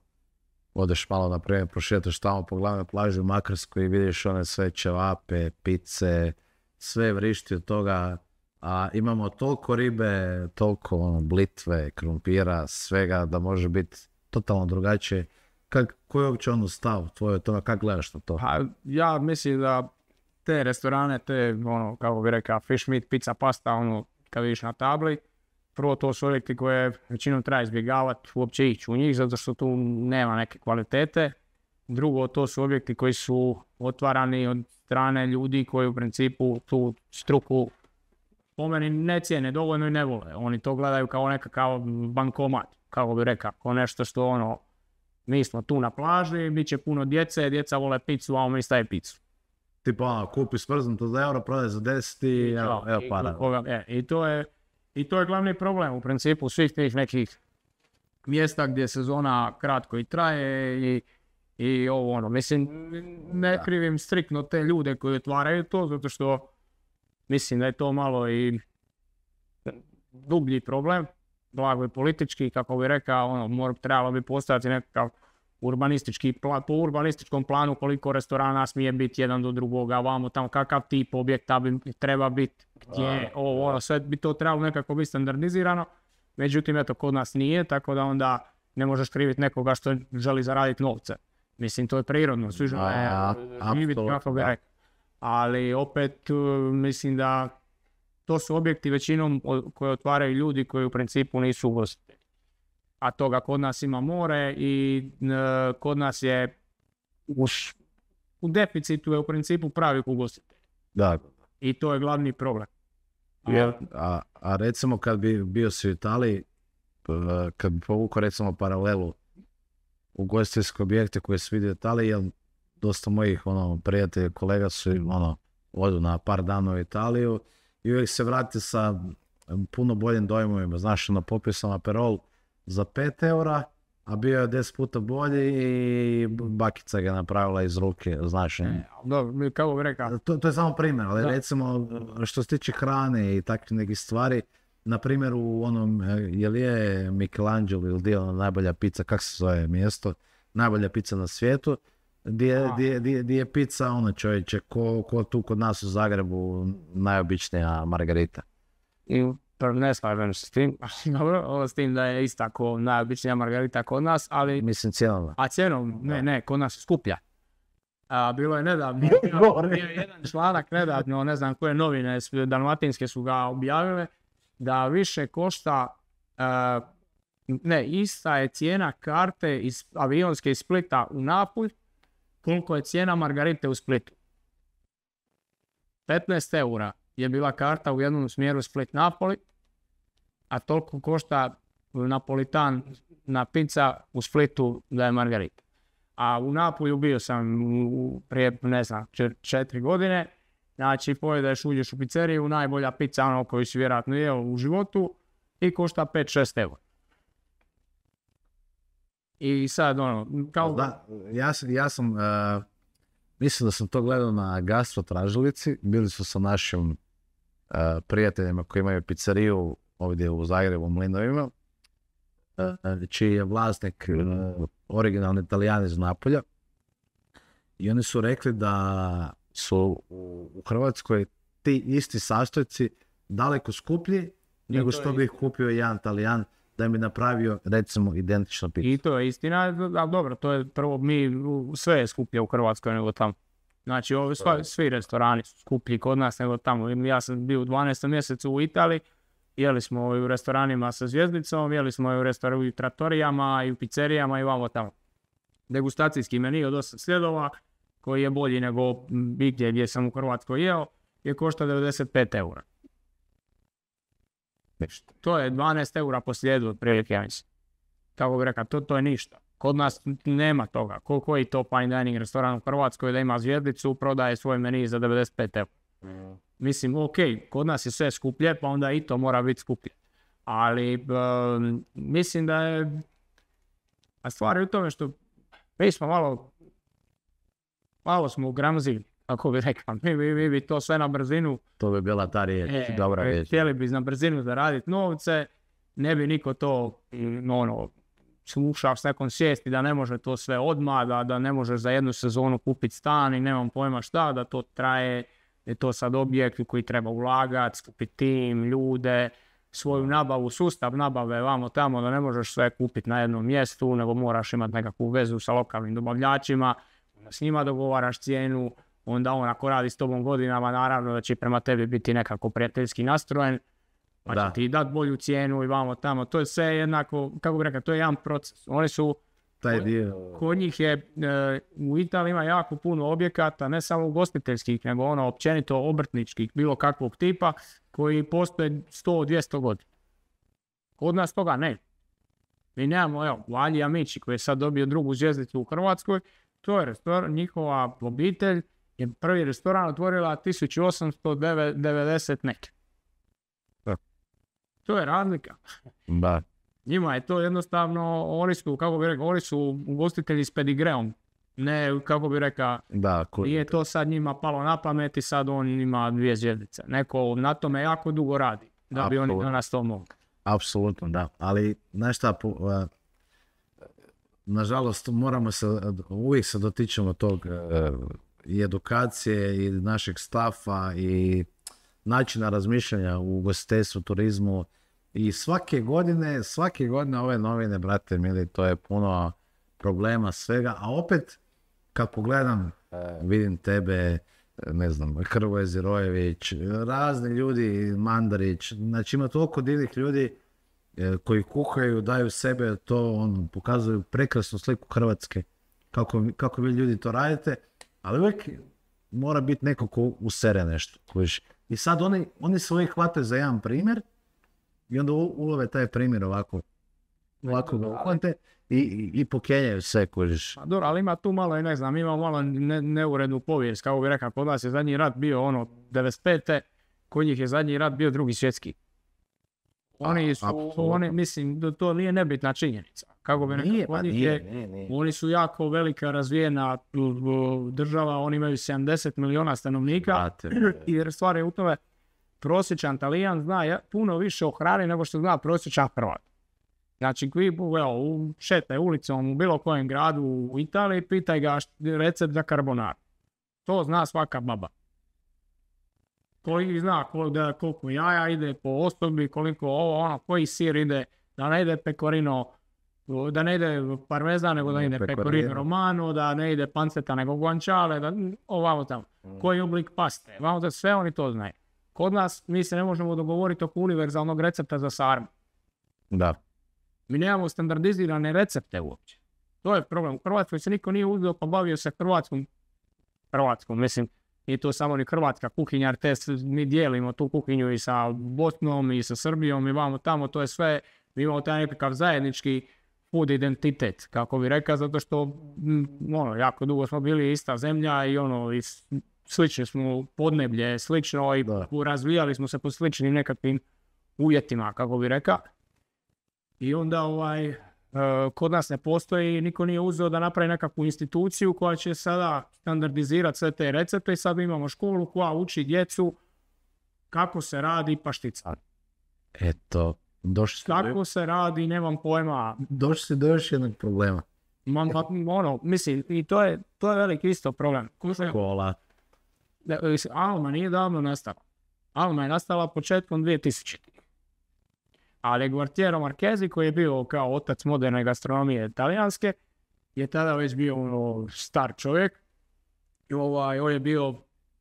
B: odeš malo, na primjer, prošetaš tamo po glavnoj plaži u Makarskoj i vidiš one sve ćevape, pice, sve vrišti od toga, a imamo toliko ribe, toliko blitve, krumpira, svega da može biti totalno drugačije. Koji je uopće stav tvoj od toga, kako gledaš na to?
A: Ja mislim da te restorane, te, kako bi rekao, fish meat, pizza, pasta, kad vidiš na tabli, prvo to su objekti koje većinom treba izbjegavati, uopće ići u njih, zato što tu nema neke kvalitete. Drugo, to su objekti koji su otvarani od strane ljudi koji u principu tu struku po meni ne cijene dovoljno i ne vole. Oni to gledaju kao nekakav bankomat, kako bi rekao, kao nešto što mi smo tu na plaži, bit će puno djece, djeca vole picu, a mi staje picu.
B: Tipa kupi smrznuto za euro, prodaj za 10 i evo para.
A: I to je glavni problem u principu svih tih nekih mjesta gdje sezona kratko i traje i ovo Mislim, ne krivim striktno te ljude koji otvaraju to, zato što mislim da je to malo i dublji problem, blago i politički, kako bi rekao, trebalo bi postojati nekakav po urbanističkom planu koliko restorana smije biti jedan do drugoga, vamo tamo kakav tip objekta bi treba biti, gdje, sve bi to trebalo nekako biti standardizirano, međutim eto kod nas nije, tako da onda ne možeš kriviti nekoga što želi zaraditi novce. Mislim, to je prirodno, svi žele živjeti kako bi rekao. Ali opet mislim da to su objekti većinom koje otvaraju ljudi koji u principu nisu ugostitelji. A toga kod nas ima more i kod nas je u deficitu je u principu pravi ugostitelj.
B: Da.
A: I to je glavni problem.
B: A recimo kad bi bio si u Italiji, kad bi povukao recimo paralelu ugostiteljske objekte koje se vidi u Italiji, jer dosta mojih prijatelja, kolega su odu na par dana u Italiju i uvijek se vrati sa puno boljim dojmovima. Znaš, popio sam Aperol za 5 eura, a bio je 10 puta bolji i bakica ga napravila iz ruke, znaš.
A: Dobro, kako bi rekao.
B: To je samo primjer, ali recimo što se tiče hrane i takvih nekih stvari, na primjer u je li je Michelangelo ili dio najbolja pizza, kako se zove mjesto, najbolja pizza na svijetu, gdje je pizza, čovječe, ko tu kod nas u Zagrebu, najobičnija margarita.
A: Ne slažem se s tim, dobro, s tim da je isto tako najobičnija margarita kod nas, ali...
B: Mislim cijenom.
A: A cijenom, ne, kod nas je skuplja. Bilo je nedavno, bio jedan članak nedavno, ne znam koje novine dalmatinske su ga objavile, da više košta, ista je cijena karte iz avionske iz Splita u Napulj, koliko je cijena margarite u Splitu. 15 eura je bila karta u jednom smjeru Split-Napoli, a toliko košta Napolitan na pizza u Splitu da je margarita. A u Napolju bio sam prije, 4 godine, znači pojedeš, uđeš u pizzeriju, najbolja pizza koju si vjerojatno jeo u životu, i košta 5-6 eura. I sad kao...
B: Da, ja sam mislim da sam to gledao na Gastro tražilici, bili su sa našim prijateljima koji imaju pizzeriju ovdje u Zagrebu, u Mlinovima, čiji je vlasnik originalni Italijan iz Napolja. I oni su rekli da su u Hrvatskoj ti isti sastojci daleko skuplji nego što bi ih kupio jedan Talijan da mi napravio recimo identično pizzu.
A: I to je istina, ali dobro, to je prvo, sve je skuplje u Hrvatskoj nego tamo. Znači, svi restorani su skuplji kod nas nego tamo. Ja sam bio u 12. mjesecu u Italiji, jeli smo u restoranima sa zvjezdicom, jeli smo u trattorijama i u pizzerijama i vamo tamo. Degustacijski meni od 8 sljedova, koji je bolji nego gdje sam u Hrvatskoj jeo, je košta 95 eura. To je 12 eura po slijedu otprilike, ja mislim. Kako bi rekao, to je ništa. Kod nas nema toga. Koji to fine dining restoran u Hrvatskoj da ima zvjezdicu, prodaje svoj meni za 95 eura. Mislim, ok, kod nas je sve skuplje, pa onda i to mora biti skuplje. Ali mislim da je... A stvar je u tome što mi smo malo smo ugramzili, kako bi rekao. Mi bi to sve na brzinu...
B: To bi bila ta riječ, dobra riječ.
A: Htjeli bi na brzinu zaraditi novce, ne bi niko to slušao s nekom svijesti da ne može to sve odmah, da ne može za jednu sezonu kupiti stan i nemam pojma šta, da to traje, da je to sad objekt u koji treba ulagati, skupiti tim, ljude, svoju nabavu, sustav nabave vamo tamo, da ne možeš sve kupiti na jednom mjestu, nego moraš imati nekakvu vezu sa lokalnim dobavljačima, da s njima dogovaraš cijenu, onda on ako radi s tobom godinama, naravno da će prema tebi biti nekako prijateljski nastrojen, pa će ti dati bolju cijenu i vamo tamo. To je sve jednako, kako bih rekao, to je jedan proces. Oni su, kod njih je, u Italiji ima jako puno objekata, ne samo ugostiteljskih, nego općenito obrtničkih, bilo kakvog tipa, koji postoje 100-200 godina. Kod nas toga ne. Mi nemamo, evo, Valji Amici koji je sad dobio drugu zvjezdicu u Hrvatskoj, to je restoran, njihova obitelj je prvi restoran otvorila 1890 neke. To je razlika.
B: Da.
A: Njima je to jednostavno, oni su, kako bi rekao, oni su ugostitelji s pedigreom. Ne, kako bi rekao, nije to sad njima palo na pamet i sad on ima 2 zvjezdice. Neko na tome jako dugo radi, da bi oni danas to mogli.
B: Apsolutno, da. Ali, znaš šta, nažalost, uvijek se dotičemo tog i edukacije i našeg stafa i načina razmišljanja u ugostiteljstvu, turizmu i svake godine ove novine, brate mili, to je puno problema svega, a opet kad pogledam, vidim tebe, ne znam, Hrvoje Zirojević, razni ljudi, Mandarić, znači ima toliko divnih ljudi koji kuhaju, daju sebe, to pokazuju prekrasnu sliku Hrvatske, kako vi ljudi to radite, ali uvijek mora biti neko ko usere nešto. I sad oni se uvijek hvataju za jedan primjer i onda ulove taj primjer ovako ga uhvate i pokenjaju sve, kužiš.
A: Pa dobro, ali ima tu malo, ne znam, ima malo neurednu povijest, kako bi rekao, kod nas je zadnji rat bio 95. Kod njih je zadnji rat bio Drugi svjetski. Mislim, to nije nebitna činjenica. Kako bi rekao, oni su jako velika razvijena država, oni imaju 70 miliona stanovnika i stvar je u tome, prosječan Talijan zna puno više o hrani nego što zna prosječan Hrvat. Znači, šetaj ulicom u bilo kojem gradu u Italiji, pitaj ga recept za carbonara. To zna svaka baba. Koji zna koliko jaja ide po osobi, koliko koji sir ide, da ne ide pecorino, da ne ide parmezan, nego da ide pecorino romano, da ne ide panceta nego guanciale, ovamo tamo. Koji oblik paste, sve oni to znaju. Kod nas mi se ne možemo dogovoriti oko univerzalnog recepta za sarmu.
B: Da.
A: Mi nemamo standardizirane recepte uopće. To je problem. U Hrvatskoj se niko nije uzeo pa bavio se Hrvatskom, mislim, nije to samo ni hrvatska kuhinja, jer mi dijelimo tu kuhinju i sa Bosnom i sa Srbijom i vamo tamo, to je sve, mi imamo taj nekakav zajednički food identitet, kako bi rekao, zato što jako dugo smo bili ista zemlja i i slični smo podneblje, slično i razvijali smo se po sličnim nekakvim uvjetima, kako bi rekao. I onda kod nas ne postoji, niko nije uzeo da napravi nekakvu instituciju koja će sada standardizirati sve te recepte i sad imamo školu koja uči djecu kako se radi paštica.
B: Eto,
A: kako se radi, nemam pojma.
B: Došli si do još jednog problema.
A: Mislim, i to je veliki isto problem.
B: Škola.
A: Alma nije davno nastala. Alma je nastala početkom 2000. Ali Gualtiero Marchesi, koji je bio kao otac moderne gastronomije talijanske, je tada već bio star čovjek. I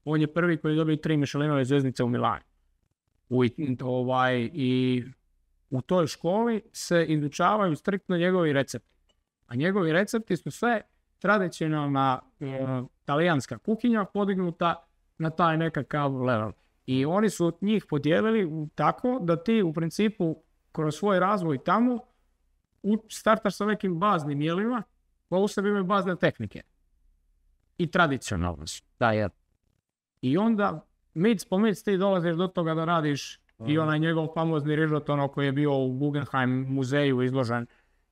A: on je prvi koji je dobio 3 Michelinove zvjezdice u Milanu. I u toj školi se izučavaju striktno njegovi recepti. A njegovi recepti su sve tradicionalna talijanska kuhinja podignuta na taj nekakav level. I oni su njih podijelili tako da ti u principu kroz svoj razvoj tamo startaš sa nekim baznim jelima, pa u sebi imaju bazne tehnike. I tradicionalno su. Da, je. I onda mic po mic ti dolaziš do toga da radiš i onaj njegov famozni rižoton koji je bio u Guggenheim muzeju izložen,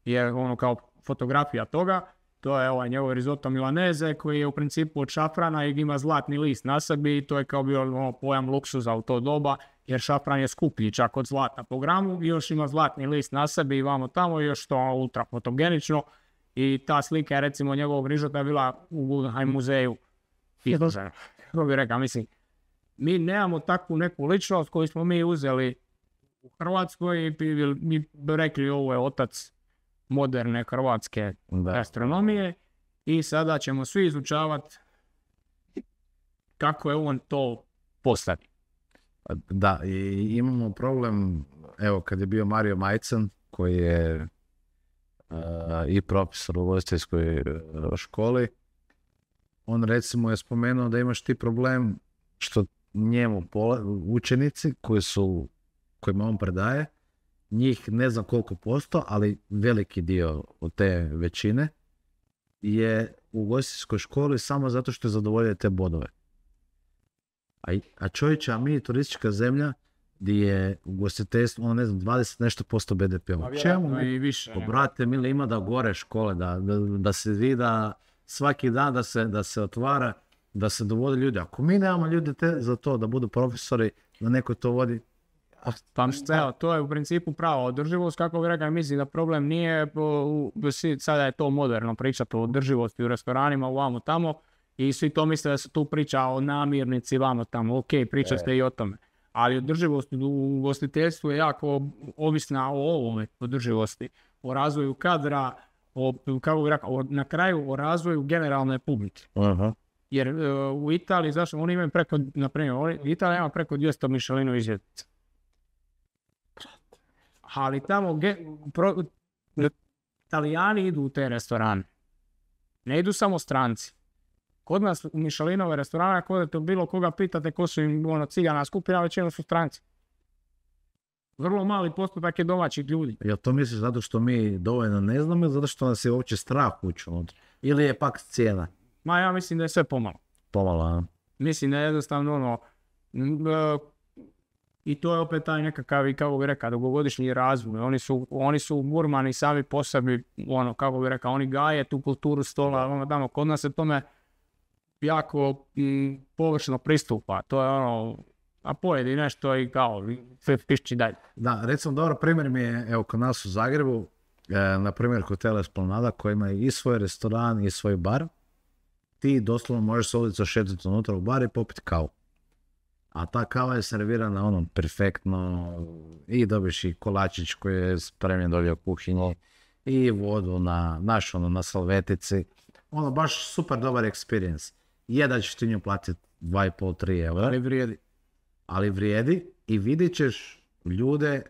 A: je kao fotografija toga. To je njegov risotto milanese koji je u principu od šafrana i ima zlatni list na sebi i to je kao bio pojam luksuza u to doba, jer šafran je skuplji čak od zlata po gramu i još ima zlatni list na sebi i vamo tamo i još to ultra fotogenično. I ta slika je recimo njegovog rižota bila u Guggenheim muzeju izložena. Kako bi rekao, mislim, mi nemamo takvu neku ličnost koju smo mi uzeli u Hrvatskoj i mi bi rekli ovo je otac moderne hrvatske gastronomije i sada ćemo svi izučavati kako je on to postavio.
B: Da, i imamo problem, evo kad je bio Mario Majcan, koji je i profesor u ugostiteljskoj školi, on recimo je spomenuo da imaš ti problem što njemu učenici kojima on predaje, njih ne znam koliko posto, ali veliki dio od te većine je u ugostiteljskoj školi samo zato što je zadovoljuje te bodove. A čovječe, a mi turistička zemlja gdje je ugostiteljstvo, ne znam, 20 nešto posto BDP-a. Čemu?
A: I više.
B: Brate, mili, ima da gore škole, da se vida svaki dan da se otvara, da se dovode ljudi. Ako mi nemamo ljude za to da budu profesori, da neko to vodi,
A: to je u principu prava održivost, kako bi rekao, mislim da problem nije, sada je to moderno pričati o održivosti u restoranima, ovamo tamo, i svi to misle da se tu priča o namirnici, vamo tamo, ok, priča ste i o tome. Ali održivost u ugostiteljstvu je jako ovisna o ovome održivosti, o razvoju kadra, kako bi rekao, na kraju o razvoju generalne publike.
B: Uh-huh.
A: Jer u Italiji, zašto, oni imaju preko, na primjer, Italija ima preko 200 Michelinove zvjezdice. Ali tamo Italijani idu u te restorane. Ne idu samo stranci. Kod nas u Michelinove restorane, ako odete bilo koga pitate ko su im cigana skupina, većinom su stranci. Vrlo mali postotak je domaćih ljudi.
B: Jel to misliš zato što mi dovoljno ne znamo ili zato što nas je uopće strah ući unutra? Ili je pak cijena?
A: Ma ja mislim da je sve pomalo.
B: Pomalo, a?
A: Mislim da je jednostavno i to je opet taj nekakav, kako bi rekao, dugogodišnji razvoj. Oni su gurmani sami po sebi, kako bi rekao, oni gaje tu kulturu stola, tamo. Kod nas se tome jako površno pristupa. To je a pojedi nešto i kao pišći dalje.
B: Da, recimo dobar primjer mi je, evo, kod nas u Zagrebu, na primjer Hotel Esplanada koji ima i svoj restoran i svoj bar. Ti doslovno možeš se ulica šetiti unutra u bar i popiti kavu. A ta kava je servirana perfektno i dobiš i kolačić koji je spremljen dolje u kuhinji i vodu na salvetici. Baš super dobar experience. Je da ćeš ti nju platiti 2,5-3 eura. Ali vrijedi i vidit ćeš ljude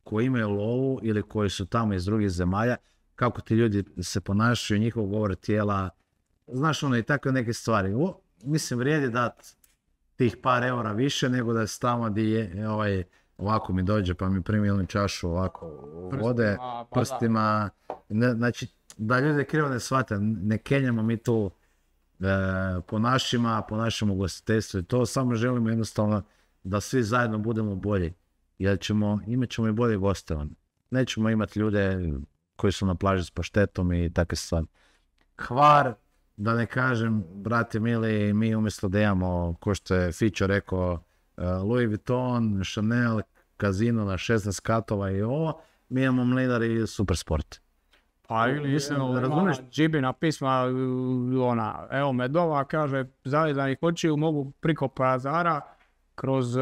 B: koji imaju lovu ili koji su tamo iz drugih zemalja, kako ti ljudi se ponašaju, njihov govor tijela, znaš i takve neke stvari. Mislim, vrijedi dati tih par eura više nego da se tamo gdje je ovako mi dođe pa mi primi jednu čašu ovako vode prstima. Znači, da ljudi krivo ne shvate, ne kenjamo mi tu po našem ugostiteljstvu i to samo želimo jednostavno da svi zajedno budemo bolji. jer imat ćemo i bolje goste. Nećemo imati ljude koji su na plaži s paštetom i takve stvari. Hvar, da ne kažem, brate mili, mi umjesto da imamo, ko što je Fićo rekao, Louis Vuitton, Chanel, Casino na 16 katova i ovo, mi imamo Mlinar i Supersport.
A: Pa ili razumiješ, Džibina pisma, evo Medova kaže, zalizanih očiju mogu priko pazara kroz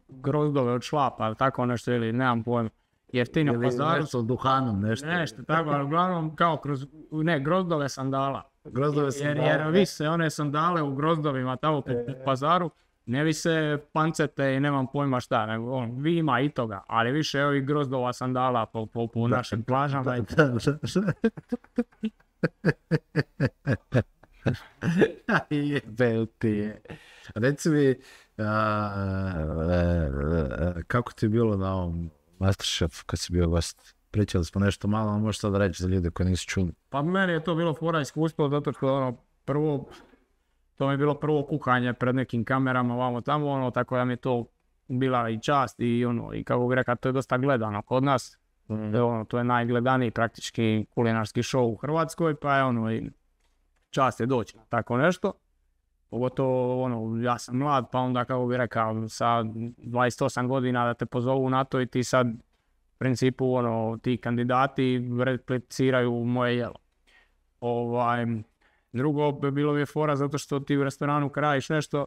A: grozdove od šlapa, ili tako nešto, ili nemam pojma. Jeftino pazaru.
B: Nešto s duhanom, nešto.
A: Nešto, tako, ali uglavnom kao kroz, grozdove sandala.
B: Grozdove sandala.
A: Jer vise one sandale u grozdovima tamo po pazaru, ne vise pancete i nemam pojma šta, nego vi ima i toga, ali više ovih grozdova sandala po našim plažama.
B: Jebeo ti je. Reci mi, kako ti je bilo na ovom Masterchef kad si bio gost? Pričali smo nešto malo, ali možeš sad reći za ljude koji nisu čuli.
A: Pa meni je to bilo fora iskustvo, zato što to mi je bilo prvo kuhanje pred nekim kamerama, ovamo tamo, tako da mi je to bila i čast i i kako bih rekao, to je dosta gledano kod nas. To je najgledaniji praktički kulinarski show u Hrvatskoj, pa je i čast je doći na tako nešto. Pogotovo, ja sam mlad, pa onda kako bih rekao, sa 28 godina da te pozovu na to i ti sad, u principu, ti kandidati repliciraju moje jelo. Drugo, bilo mi je fora zato što ti u restoranu kad radiš nešto,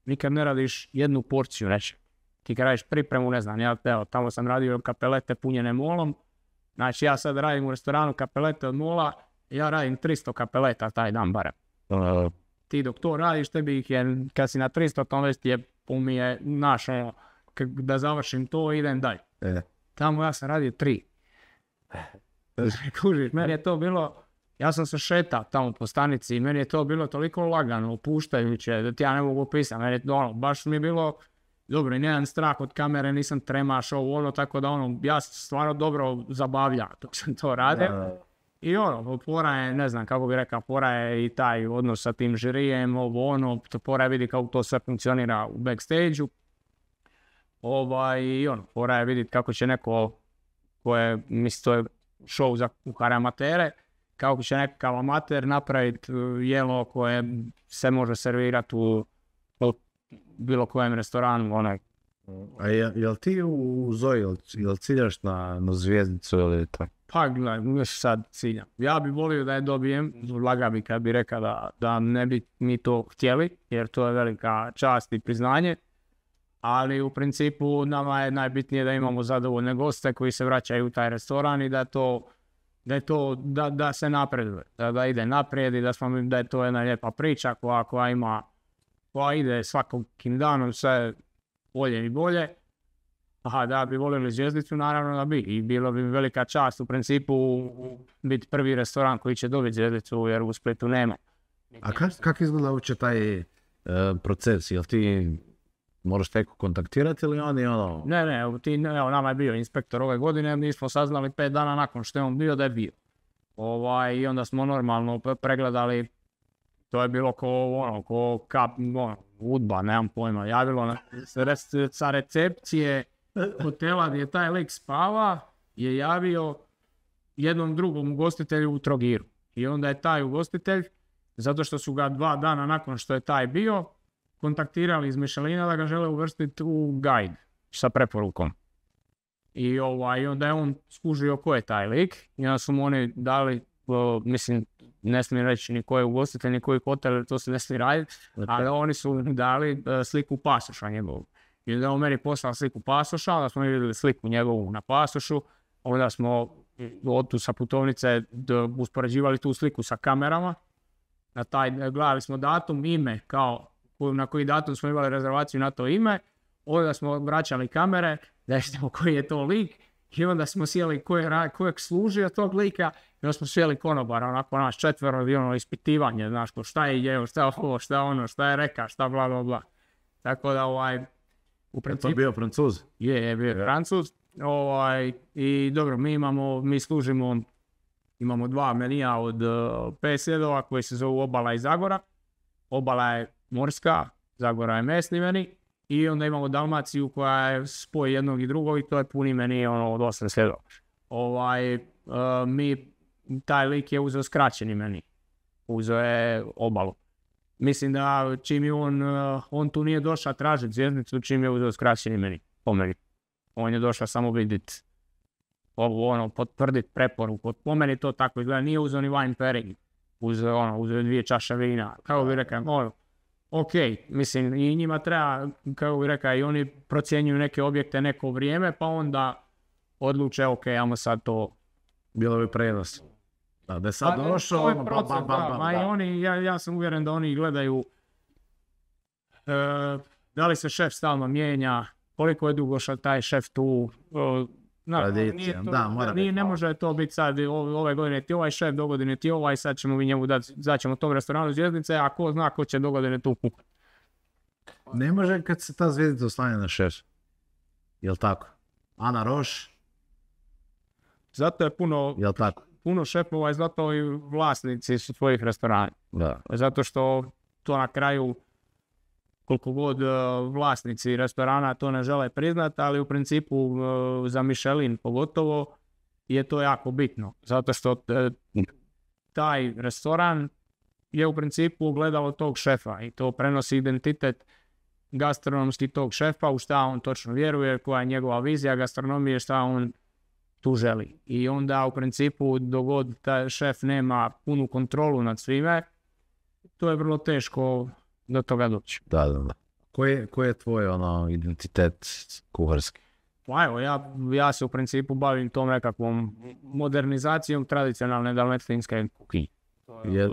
A: nikad ne radiš jednu porciju nečeg. Ti kad radiš pripremu, ne znam, tamo sam radio kapelete punjene molom, znači ja sad radim u restoranu kapelete od mola, ja radim 300 kapeleta taj dan barem. Ti dok to radiš, tebi ih je, kad si na 300, to već ti je umije, da završim to, idem dalje. Tamo ja sam radio 3. Kužiš, meni je to bilo, ja sam se šetao tamo po stanici i meni je to bilo toliko lagano, opuštajuće, da ti ja ne mogu opisati, meni je baš mi je bilo dobro i nemam strah od kamere, nisam tremaš tako da ja sam stvarno dobro zabavljao dok sam to radio. I fora je, ne znam kako bih rekao, fora je i taj odnos sa tim žirijem, fora je vidi kako to sve funkcionira u backstage-u. Fora je vidjeti kako će neko, mislim to je show za kuhare amatere, kako će nekakav amater napraviti jelo koje se može servirati u bilo kojem restoranu.
B: A jel ti u Zoji, jel ciljaš na zvijezdicu ili tako?
A: Pa gledaj, sad ciljam. Ja bi volio da je dobijem, laga bi kad bi rekao da ne bi mi to htjeli, jer to je velika čast i priznanje. Ali u principu nama je najbitnije da imamo zadovoljne goste koji se vraćaju u taj restoran i da se napreduje, da ide naprijed i da je to jedna lijepa priča koja ide svakim danom sve bolje i bolje. Da bi volili zvjezdicu, naravno da bi. I bilo bi velika čast u principu biti prvi restoran koji će dobiti zvjezdicu, jer u Splitu nema.
B: A kako izgleda uopće taj proces? Jel ti moraš neko kontaktirati ili oni
A: Ne, nama je bio inspektor ove godine, mi smo saznali 5 dana nakon što je on bio da je bio. I onda smo normalno pregledali, to je bilo ko udba, nemam pojma, javilo sa recepcije hotela gdje je taj lik spava, je javio jednom drugom ugostitelju u Trogiru. I onda je taj ugostitelj, zato što su ga 2 dana nakon što je taj bio, kontaktirali iz Michelina da ga žele uvrstiti u guide sa preporukom. I onda je on skužio ko je taj lik i onda su mu oni dali, mislim, ne smijem reći ni koji ugostitelj, ni koji hotel, to se ne smije raditi, ali oni su dali sliku pasoša njegovu. I onda on meni poslao sliku pasoša, onda smo vidjeli sliku njegovu na pasošu, onda smo tu sa putovnice uspoređivali tu sliku sa kamerama, gledali smo datum, ime, na koji datum smo imali rezervaciju na to ime, onda smo vraćali kamere, da vidimo koji je to lik, i onda smo sjeli kojeg služio tog lika, i onda smo sjeli konobara, onako naš 4 ispitivanje, znaš, šta je jeo, šta je ovo, šta je ono, šta je reka, šta bla bla bla. Tako da u principu...
B: Je to bio Francuz?
A: Je bio Francuz. I dobro, mi služimo, imamo 2 menija od 5 sljedova koji se zovu Obala i Zagora. Obala je morska, Zagora je mesni meni. I onda imamo Dalmaciju koja je spoj jednog i drugog i to je puni meni ono od 8 svjedova. Taj lik je uzeo skraćeni meni. Uzeo je obalu. Mislim da čim je on tu nije došao tražiti zvjezdicu, čim je uzeo skraćeni meni. Po meni. On je došao samo vidjeti. Potvrditi preporuku. Po meni to tako izgleda. Nije uzeo ni wine pairing. Uzeo 2 čaše vina. Kako bi rekao, ok, mislim i njima treba, kako bi rekao, i oni procjenjuju neke objekte neko vrijeme, pa onda odluče, ok, ajmo sad to.
B: Bilo bi prenos. Da je sad došao,
A: ja sam uvjeren da oni gledaju da li se šef stalno mijenja, koliko je dugo taj šef tu. Ne može to biti sad ove godine ti ovaj šef, dogodine ti ovaj, sad ćemo mi njemu dati, ćemo tom restoranu zvjezdice, a ko zna ko će dogodine tu kuhati.
B: Ne može kad se ta zvjezdica oslanja na šef. Jel' tako? Ana Roš?
A: Zato je puno šefova i zato i vlasnici su svojih restorana.
B: Da.
A: Zato što to na kraju, koliko god vlasnici restorana to ne žele priznati, ali u principu za Michelin pogotovo je to jako bitno. Zato što taj restoran je u principu ogledalo tog šefa i to prenosi identitet gastronomski tog šefa, u šta on točno vjeruje, koja je njegova vizija gastronomije, šta on tu želi. I onda u principu dok god taj šef nema punu kontrolu nad svime, to je vrlo teško do toga doći.
B: Da. Koji je tvoj identitet kuharski?
A: Pa evo, ja se u principu bavim tom nekakvom modernizacijom tradicionalne dalmatinske kuhinje.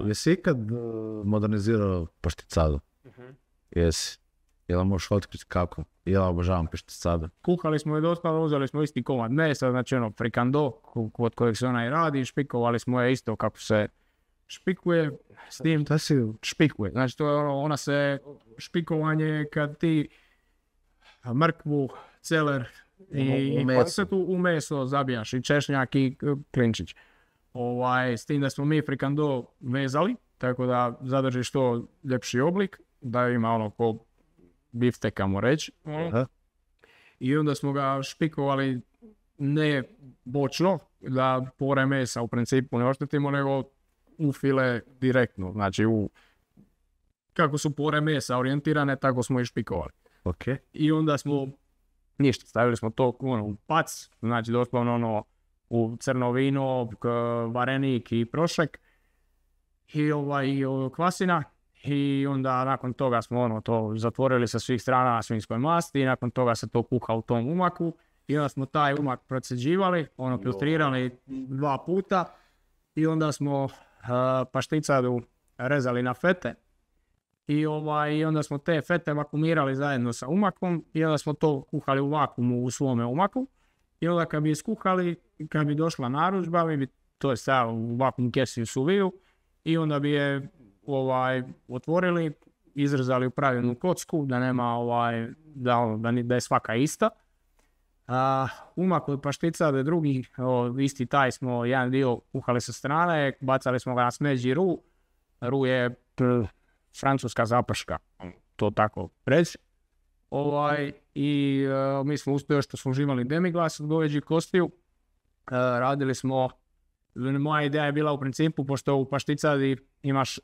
B: Jesi ikad modernizirao pašticadu? Jesi. Jel' možeš otkriti kako? Ja obožavam pašticadu.
A: Kuhali smo je dosta, uzeli smo isti komad mesa, znači frikando kod kojeg se onaj radi, špikovali smo je isto kako se špikuje, s tim špikuje. Znači to je ona se špikovanje kad ti mrkvu, celer i kvasetu u meso zabijaš i češnjak i klinčić. S tim da smo mi frikando vezali, tako da zadržiš to ljepši oblik, da ima ko biftek, kamo reći. I onda smo ga špikovali ne bočno, da pore mesa u principu ne oštetimo, nego u file direktno, znači kako su pore mesa orijentirane, tako smo i špikovali.
B: Okay.
A: I onda smo stavili smo to u pac, znači doslovno u crno vino, varenik i prošek i kvasina. I onda nakon toga smo to zatvorili sa svih strana na svinjskoj masti i nakon toga se to kuha u tom umaku i onda smo taj umak proceđivali, filtrirali 2 puta i onda smo pašticadu rezali na fete i onda smo te fete vakumirali zajedno sa umakom i onda smo to kuhali u vakuumu u svome umaku i onda kad bi iskuhali, kad bi došla narudžba, mi bi to stavili u vakuum kesi u suviju i onda bi je otvorili, izrezali u pravilnu kocku, da nema da je svaka ista. Umak od pašticade drugi, isti taj smo jedan dio kuhali sa strane, bacali smo ga na smeđi ru. Ru je francuska zaprška, to tako reći. Mi smo uspjeli što smo uživali demiglas od goveđih kostiju. Radili smo, moja ideja je bila u principu, pošto u pašticadi imaš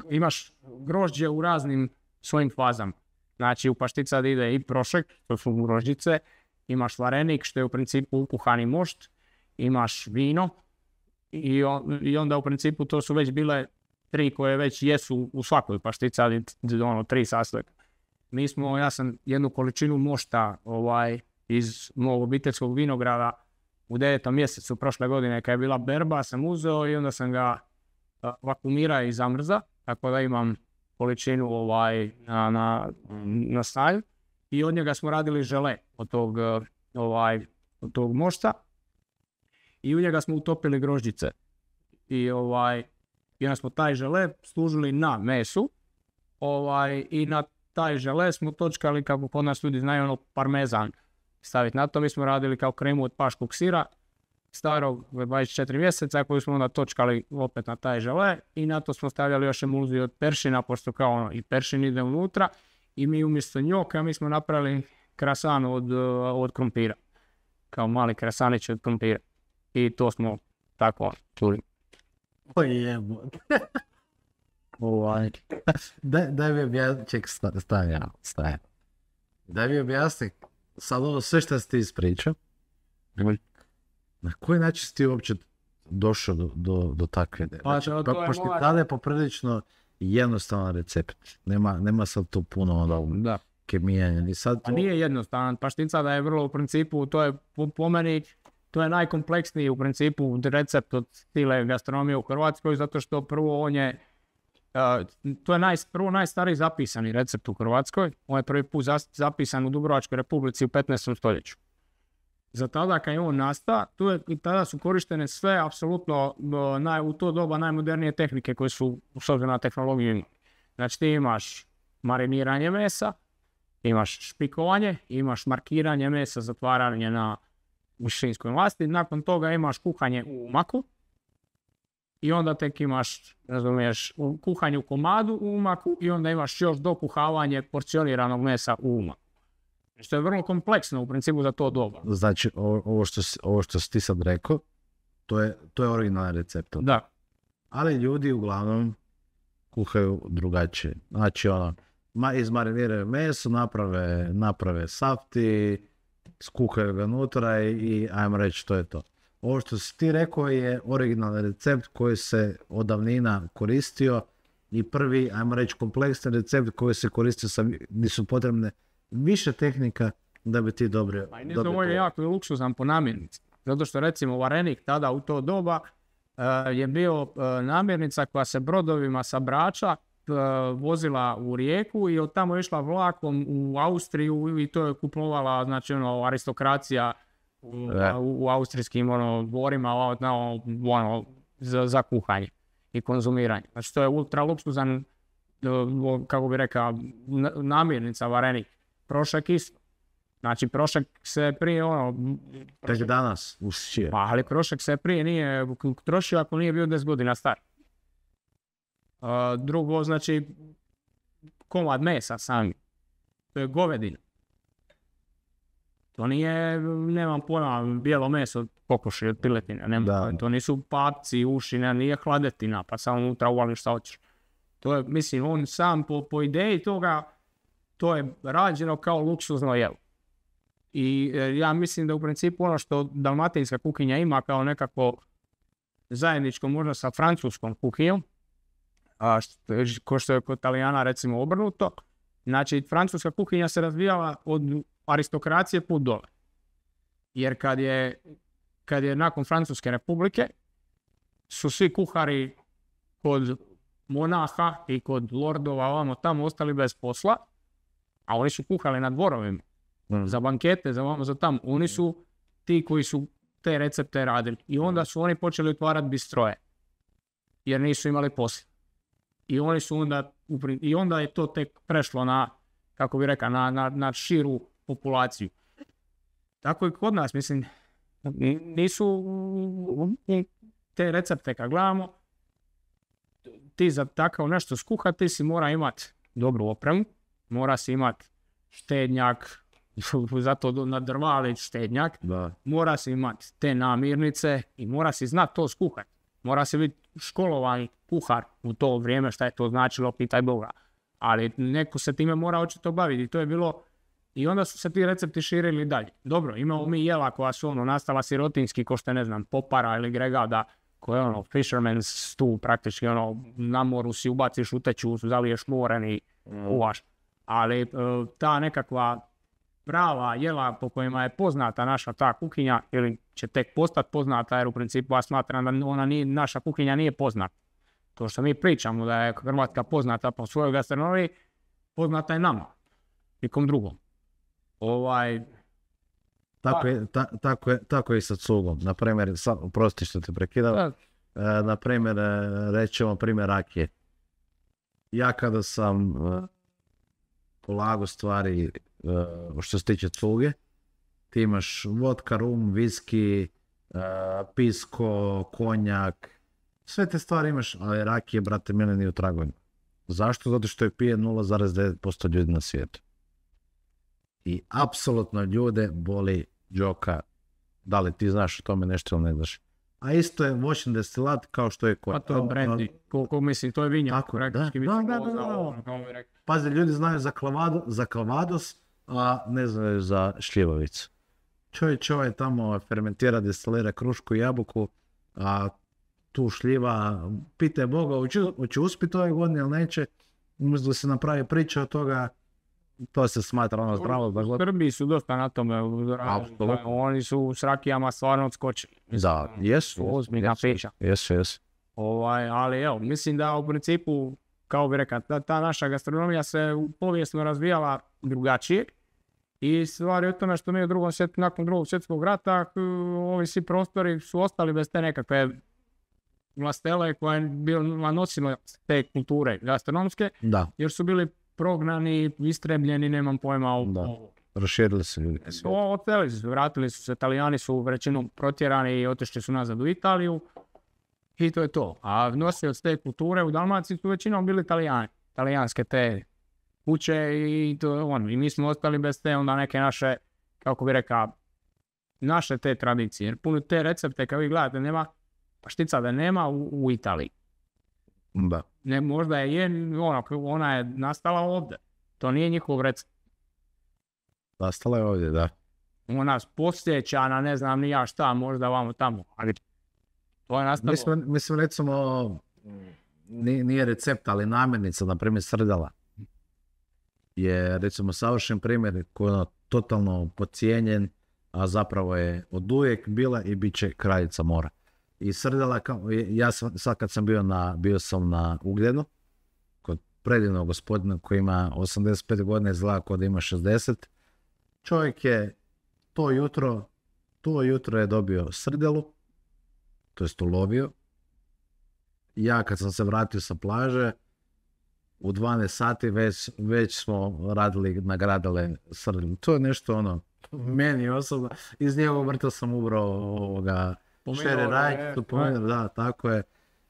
A: imaš grožđe u raznim svojim fazama. Znači u pašticadi ide i prošek, to su grožđice, imaš varenik što je u principu ukuhani mošt, imaš vino i onda u principu to su već bile 3 koje već jesu u svakoj pašticadi, 3 sastojka. Ja sam jednu količinu mošta iz mog obiteljskog vinograda u 9. mjesecu prošle godine kad je bila berba sam uzeo i onda sam ga vakuumirao i zamrza, tako da imam količinu na staju i od njega smo radili žele od tog mošta i u njega smo utopili grožđice i onda smo taj žele služili na mesu i na taj žele smo točkali, kako kod nas ljudi znaju, parmezan staviti na to. Mi smo radili kao kremu od paškog sira starog 24 mjeseca koju smo onda točkali opet na taj žele i na to smo stavljali još emulziju od peršina, pošto kao i peršin ide unutra i mi umjesto njoka mi smo napravili krasan od krumpira. Kao mali krasanić od krumpira. I to smo tako čuli.
B: Daj mi objasni, ček, staje. Daj mi objasni, sad ovo sve što si ti ispričao, na koji način si ti uopće došao do takve ideje? Znači, pošto tada je poprilično jednostavan recept. Nema sad tu puno kemijanja.
A: A nije jednostavan. Paštica da je vrlo u principu, to je po meni, to je najkompleksniji u principu recept od stile gastronomije u Hrvatskoj, zato što prvo on je, to je prvo najstariji zapisani recept u Hrvatskoj. On je prvi put zapisan u Dubrovačkoj Republici u 15. stoljeću. Za tada kad je on nastao, tada su korištene sve apsolutno u to doba najmodernije tehnike koje su s obzirom na tehnologiju. Znači ti imaš mariniranje mesa, imaš špikovanje, imaš markiranje mesa, zatvaranje na mišinskoj masti, nakon toga imaš kuhanje u umaku i onda tek imaš, razumiješ, kuhanje u komadu u umaku i onda imaš još dokuhavanje porcioniranog mesa u umaku. Što je vrlo kompleksno u principu za to doba.
B: Znači, ovo što si ti sad rekao, to je originalni recept.
A: Da.
B: Ali ljudi uglavnom kuhaju drugačije. Znači, izmariniraju meso, naprave safti, skuhaju ga unutra i ajmo reći, to je to. Ovo što si ti rekao je originalni recept koji se od davnina koristio i prvi, ajmo reći, kompleksni recept koji se koristio, nisu potrebne više tehnika da bi ti dobrio.
A: Ovo je jako luksuzan po namirnici. Zato što recimo varenik tada u to doba je bio namirnica koja se brodovima sa Brača vozila u Rijeku i od tamo išla vlakom u Austriju i to je kupovala, znači aristokracija u austrijskim dvorima za kuhanje i konzumiranje. Znači to je ultra luksuzan, kako bi rekao, namirnica varenik. Prošek isto. Znači prošek se prije
B: Tek danas usčije.
A: Ali prošek se prije nije trošio ako nije bio 10 godina star. Drugo, znači komad mesa sami. To je govedina. To nije, nemam pojma, bijelo meso od kokoši, od piletine. To nisu papci, uši, nije hladetina, pa samo unutra uvališ šta hoćeš. To je, mislim, on sam po ideji toga, to je rađeno kao luksuzno jelo. I ja mislim da u principu ono što dalmatinska kuhinja ima kao nekako zajedničko možda sa francuskom kuhinjom, ko što je kod Italijana recimo obrnuto, znači francuska kuhinja se razvijala od aristokracije put dole. Jer kad je nakon Francuske republike su svi kuhari kod monaha i kod lordova ovamo tamo ostali bez posla, a oni su kuhali na dvorovima. Za bankete, za tamo. Oni su ti koji su te recepte radili. I onda su oni počeli otvarati bistroje. Jer nisu imali posla. I onda je to tek prešlo na, kako bi rekao, na širu populaciju. Tako i kod nas, mislim, nisu te recepte kad gledamo, ti za takav nešto skuhati, ti si mora imati dobru opremu, mora si imati štednjak, zato na drvali štednjak, mora si imati te namirnice i mora si znati to skuhati. Mora si biti školovan kuhar u to vrijeme, šta je to značilo, pitaj Boga. Ali neko se time mora očito baviti. To je bilo, i onda su se ti recepti širili dalje. Dobro, imamo mi jela koja su nastala sirotinski, ko što ne znam, popara ili gregada, koje je fisherman's stew, praktički na moru si ubaciš u teču, zaliješ moren i uvaš. Ali ta nekakva prava jela po kojima je poznata naša ta kuhinja, ili će tek postati poznata, jer u principu ja smatram da naša kuhinja nije poznata. To što mi pričamo da je Hrvatska poznata po svojoj gastronomiji, poznata je nama, nikom drugom.
B: Tako je i sa cugom. Na primjer, oprosti što te prekidam, na primjer, rećemo primjer rakije. Ja kada sam polagao stvari što se tiče cuge, ti imaš vodka, rum, viski, pisko, konjak, sve te stvari imaš, ali rakije, brate, mene nije u tragovima. Zašto? Zato što je pije 0,9% ljudi na svijetu. I apsolutno ljude boli džoka. Da li ti znaš o tome nešto ili ne znaš? A isto je voćni destilat kao što je
A: Pa to je brandy. Koliko mislim, to je vinjak.
B: Tako, da. Pazi, ljudi znaju za klavados, a ne znaju za šljivovicu. Čovjek tamo fermentira, destilira krušku i jabuku, a tu šljiva, pitaj Boga, hoće uspjeti ove godine ili neće, umjesto da se napravi priča od toga, to se smatra ono zdravo.
A: U Srbiji su dosta na tome, oni su s rakijama stvarno odskočili.
B: Da, jesu.
A: Ozbiljna priča.
B: Jesu.
A: Ali evo, mislim da u principu, kao bi rekao, ta naša gastronomija se povijesno razvijala drugačije. I stvar je u tome što mi nakon drugog svjetskog rata, ovi svi prostori su ostali bez te nekakve vlastele koja je bila nosila te kulture gastronomske, jer su bili prognani, istrebljeni, nemam pojma.
B: Raširili se ljudi.
A: Odselili su, vratili su se, Italijani su većinom protjerani i otišli su nazad u Italiju i to je to. A nosioci te kulture u Dalmaciji su većinom bili Italijani, talijanske te kuće i i mi smo ostali bez te onda neke naše, kako bi rekao, naše te tradicije. Jer puno te recepte, kad vi gledate, nema paštica da nema u Italiji.
B: Da.
A: Ne, možda ona je nastala ovdje. To nije njihov recept.
B: Nastala je ovdje, da.
A: Ona posjeća na ne znam ni ja šta, možda vamo tamo. Ali to je nastalo.
B: Mislim recimo, nije recept, ali namirnica, na primjer srdela, je recimo savršen primjer koji je totalno podcijenjen, a zapravo je oduvijek bila i bit će kraljica mora. I srdela, ja sam, sad kad sam bio sam na Ugljenu, kod predivnog gospodina koji ima 85 godina, izgleda kod ima 60, čovjek je to jutro je dobio srdelu, to jest ulovio. Ja kad sam se vratio sa plaže, u 12 sati već smo nagradile srdelu. To je nešto meni osobno, iz njegovog vrta sam ubrao šere rajčicu, da, tako je.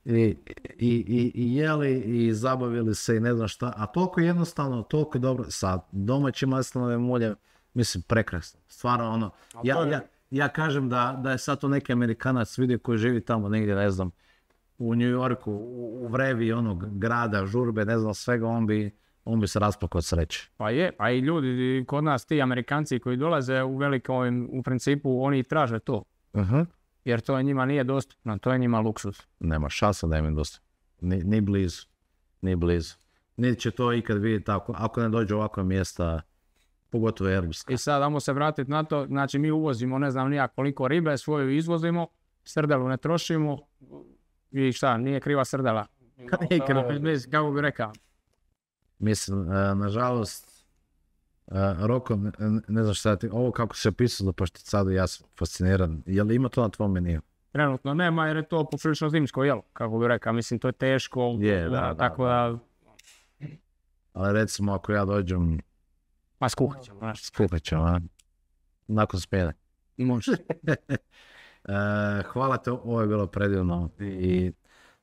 B: I jeli i zabavili se i ne znam šta, a toliko jednostavno, toliko dobro, sa domaćim maslinovim uljem, mislim prekrasno, stvarno ja kažem da je sad to neki Amerikanac vidio koji živi tamo negdje, ne znam, u New Yorku, u vrevi onog grada, žurbe, ne znam svega, on bi se rasplakao od sreće.
A: Pa je, pa i ljudi kod nas, ti Amerikanci koji dolaze u principu, oni traže to.
B: Uh-huh.
A: Jer to njima nije dostupno, to je njima luksuz.
B: Nema šansa da im je dostupno. Ni blizu. Niti će to ikad vidjeti ako ne dođe ovakva mjesta, pogotovo europska.
A: I sad damo se vratiti na to, znači mi uvozimo ne znam nija koliko ribe, svoju izvozimo, srdelu ne trošimo i šta, nije kriva srdela. Kako bi rekao?
B: Mislim, nažalost, Roko, ne znam šta ti, ovo kako se pisao za pašticadu, ja sam fasciniran. Je li ima to na tvom meniju?
A: Trenutno nema jer je to poprilično zimsko jelo, kako bi rekao. Mislim, to je teško. Tako da.
B: Ali recimo ako ja dođem...
A: Ma skuhat ćemo.
B: a? Nakon smjene.
A: Može.
B: Hvala te, ovo je bilo predivno. I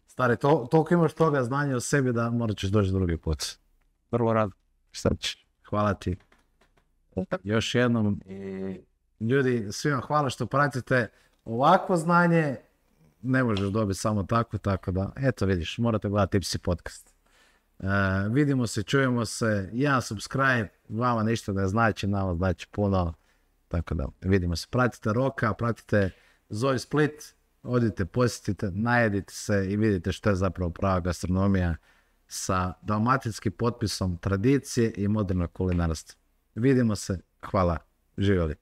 B: stari, toliko imaš toga znanja o sebi da morat ćeš doći drugi put.
A: Vrlo rado.
B: Šta ćeš? Hvala ti. Još jednom. I ljudi, svima hvala što pratite ovakvo znanje. Ne možeš dobiti samo tako da, eto vidiš, morate gledati Tipsy podcast. Vidimo se, čujemo se, jedan subscribe, vama ništa ne znači, nama znači puno, tako da vidimo se. Pratite Roka, pratite Zoe Split, odite, posjetite, najedite se i vidite što je zapravo prava gastronomija sa dalmatinskim potpisom tradicije i modernog kulinarstva. Vidimo se, hvala, živjeli.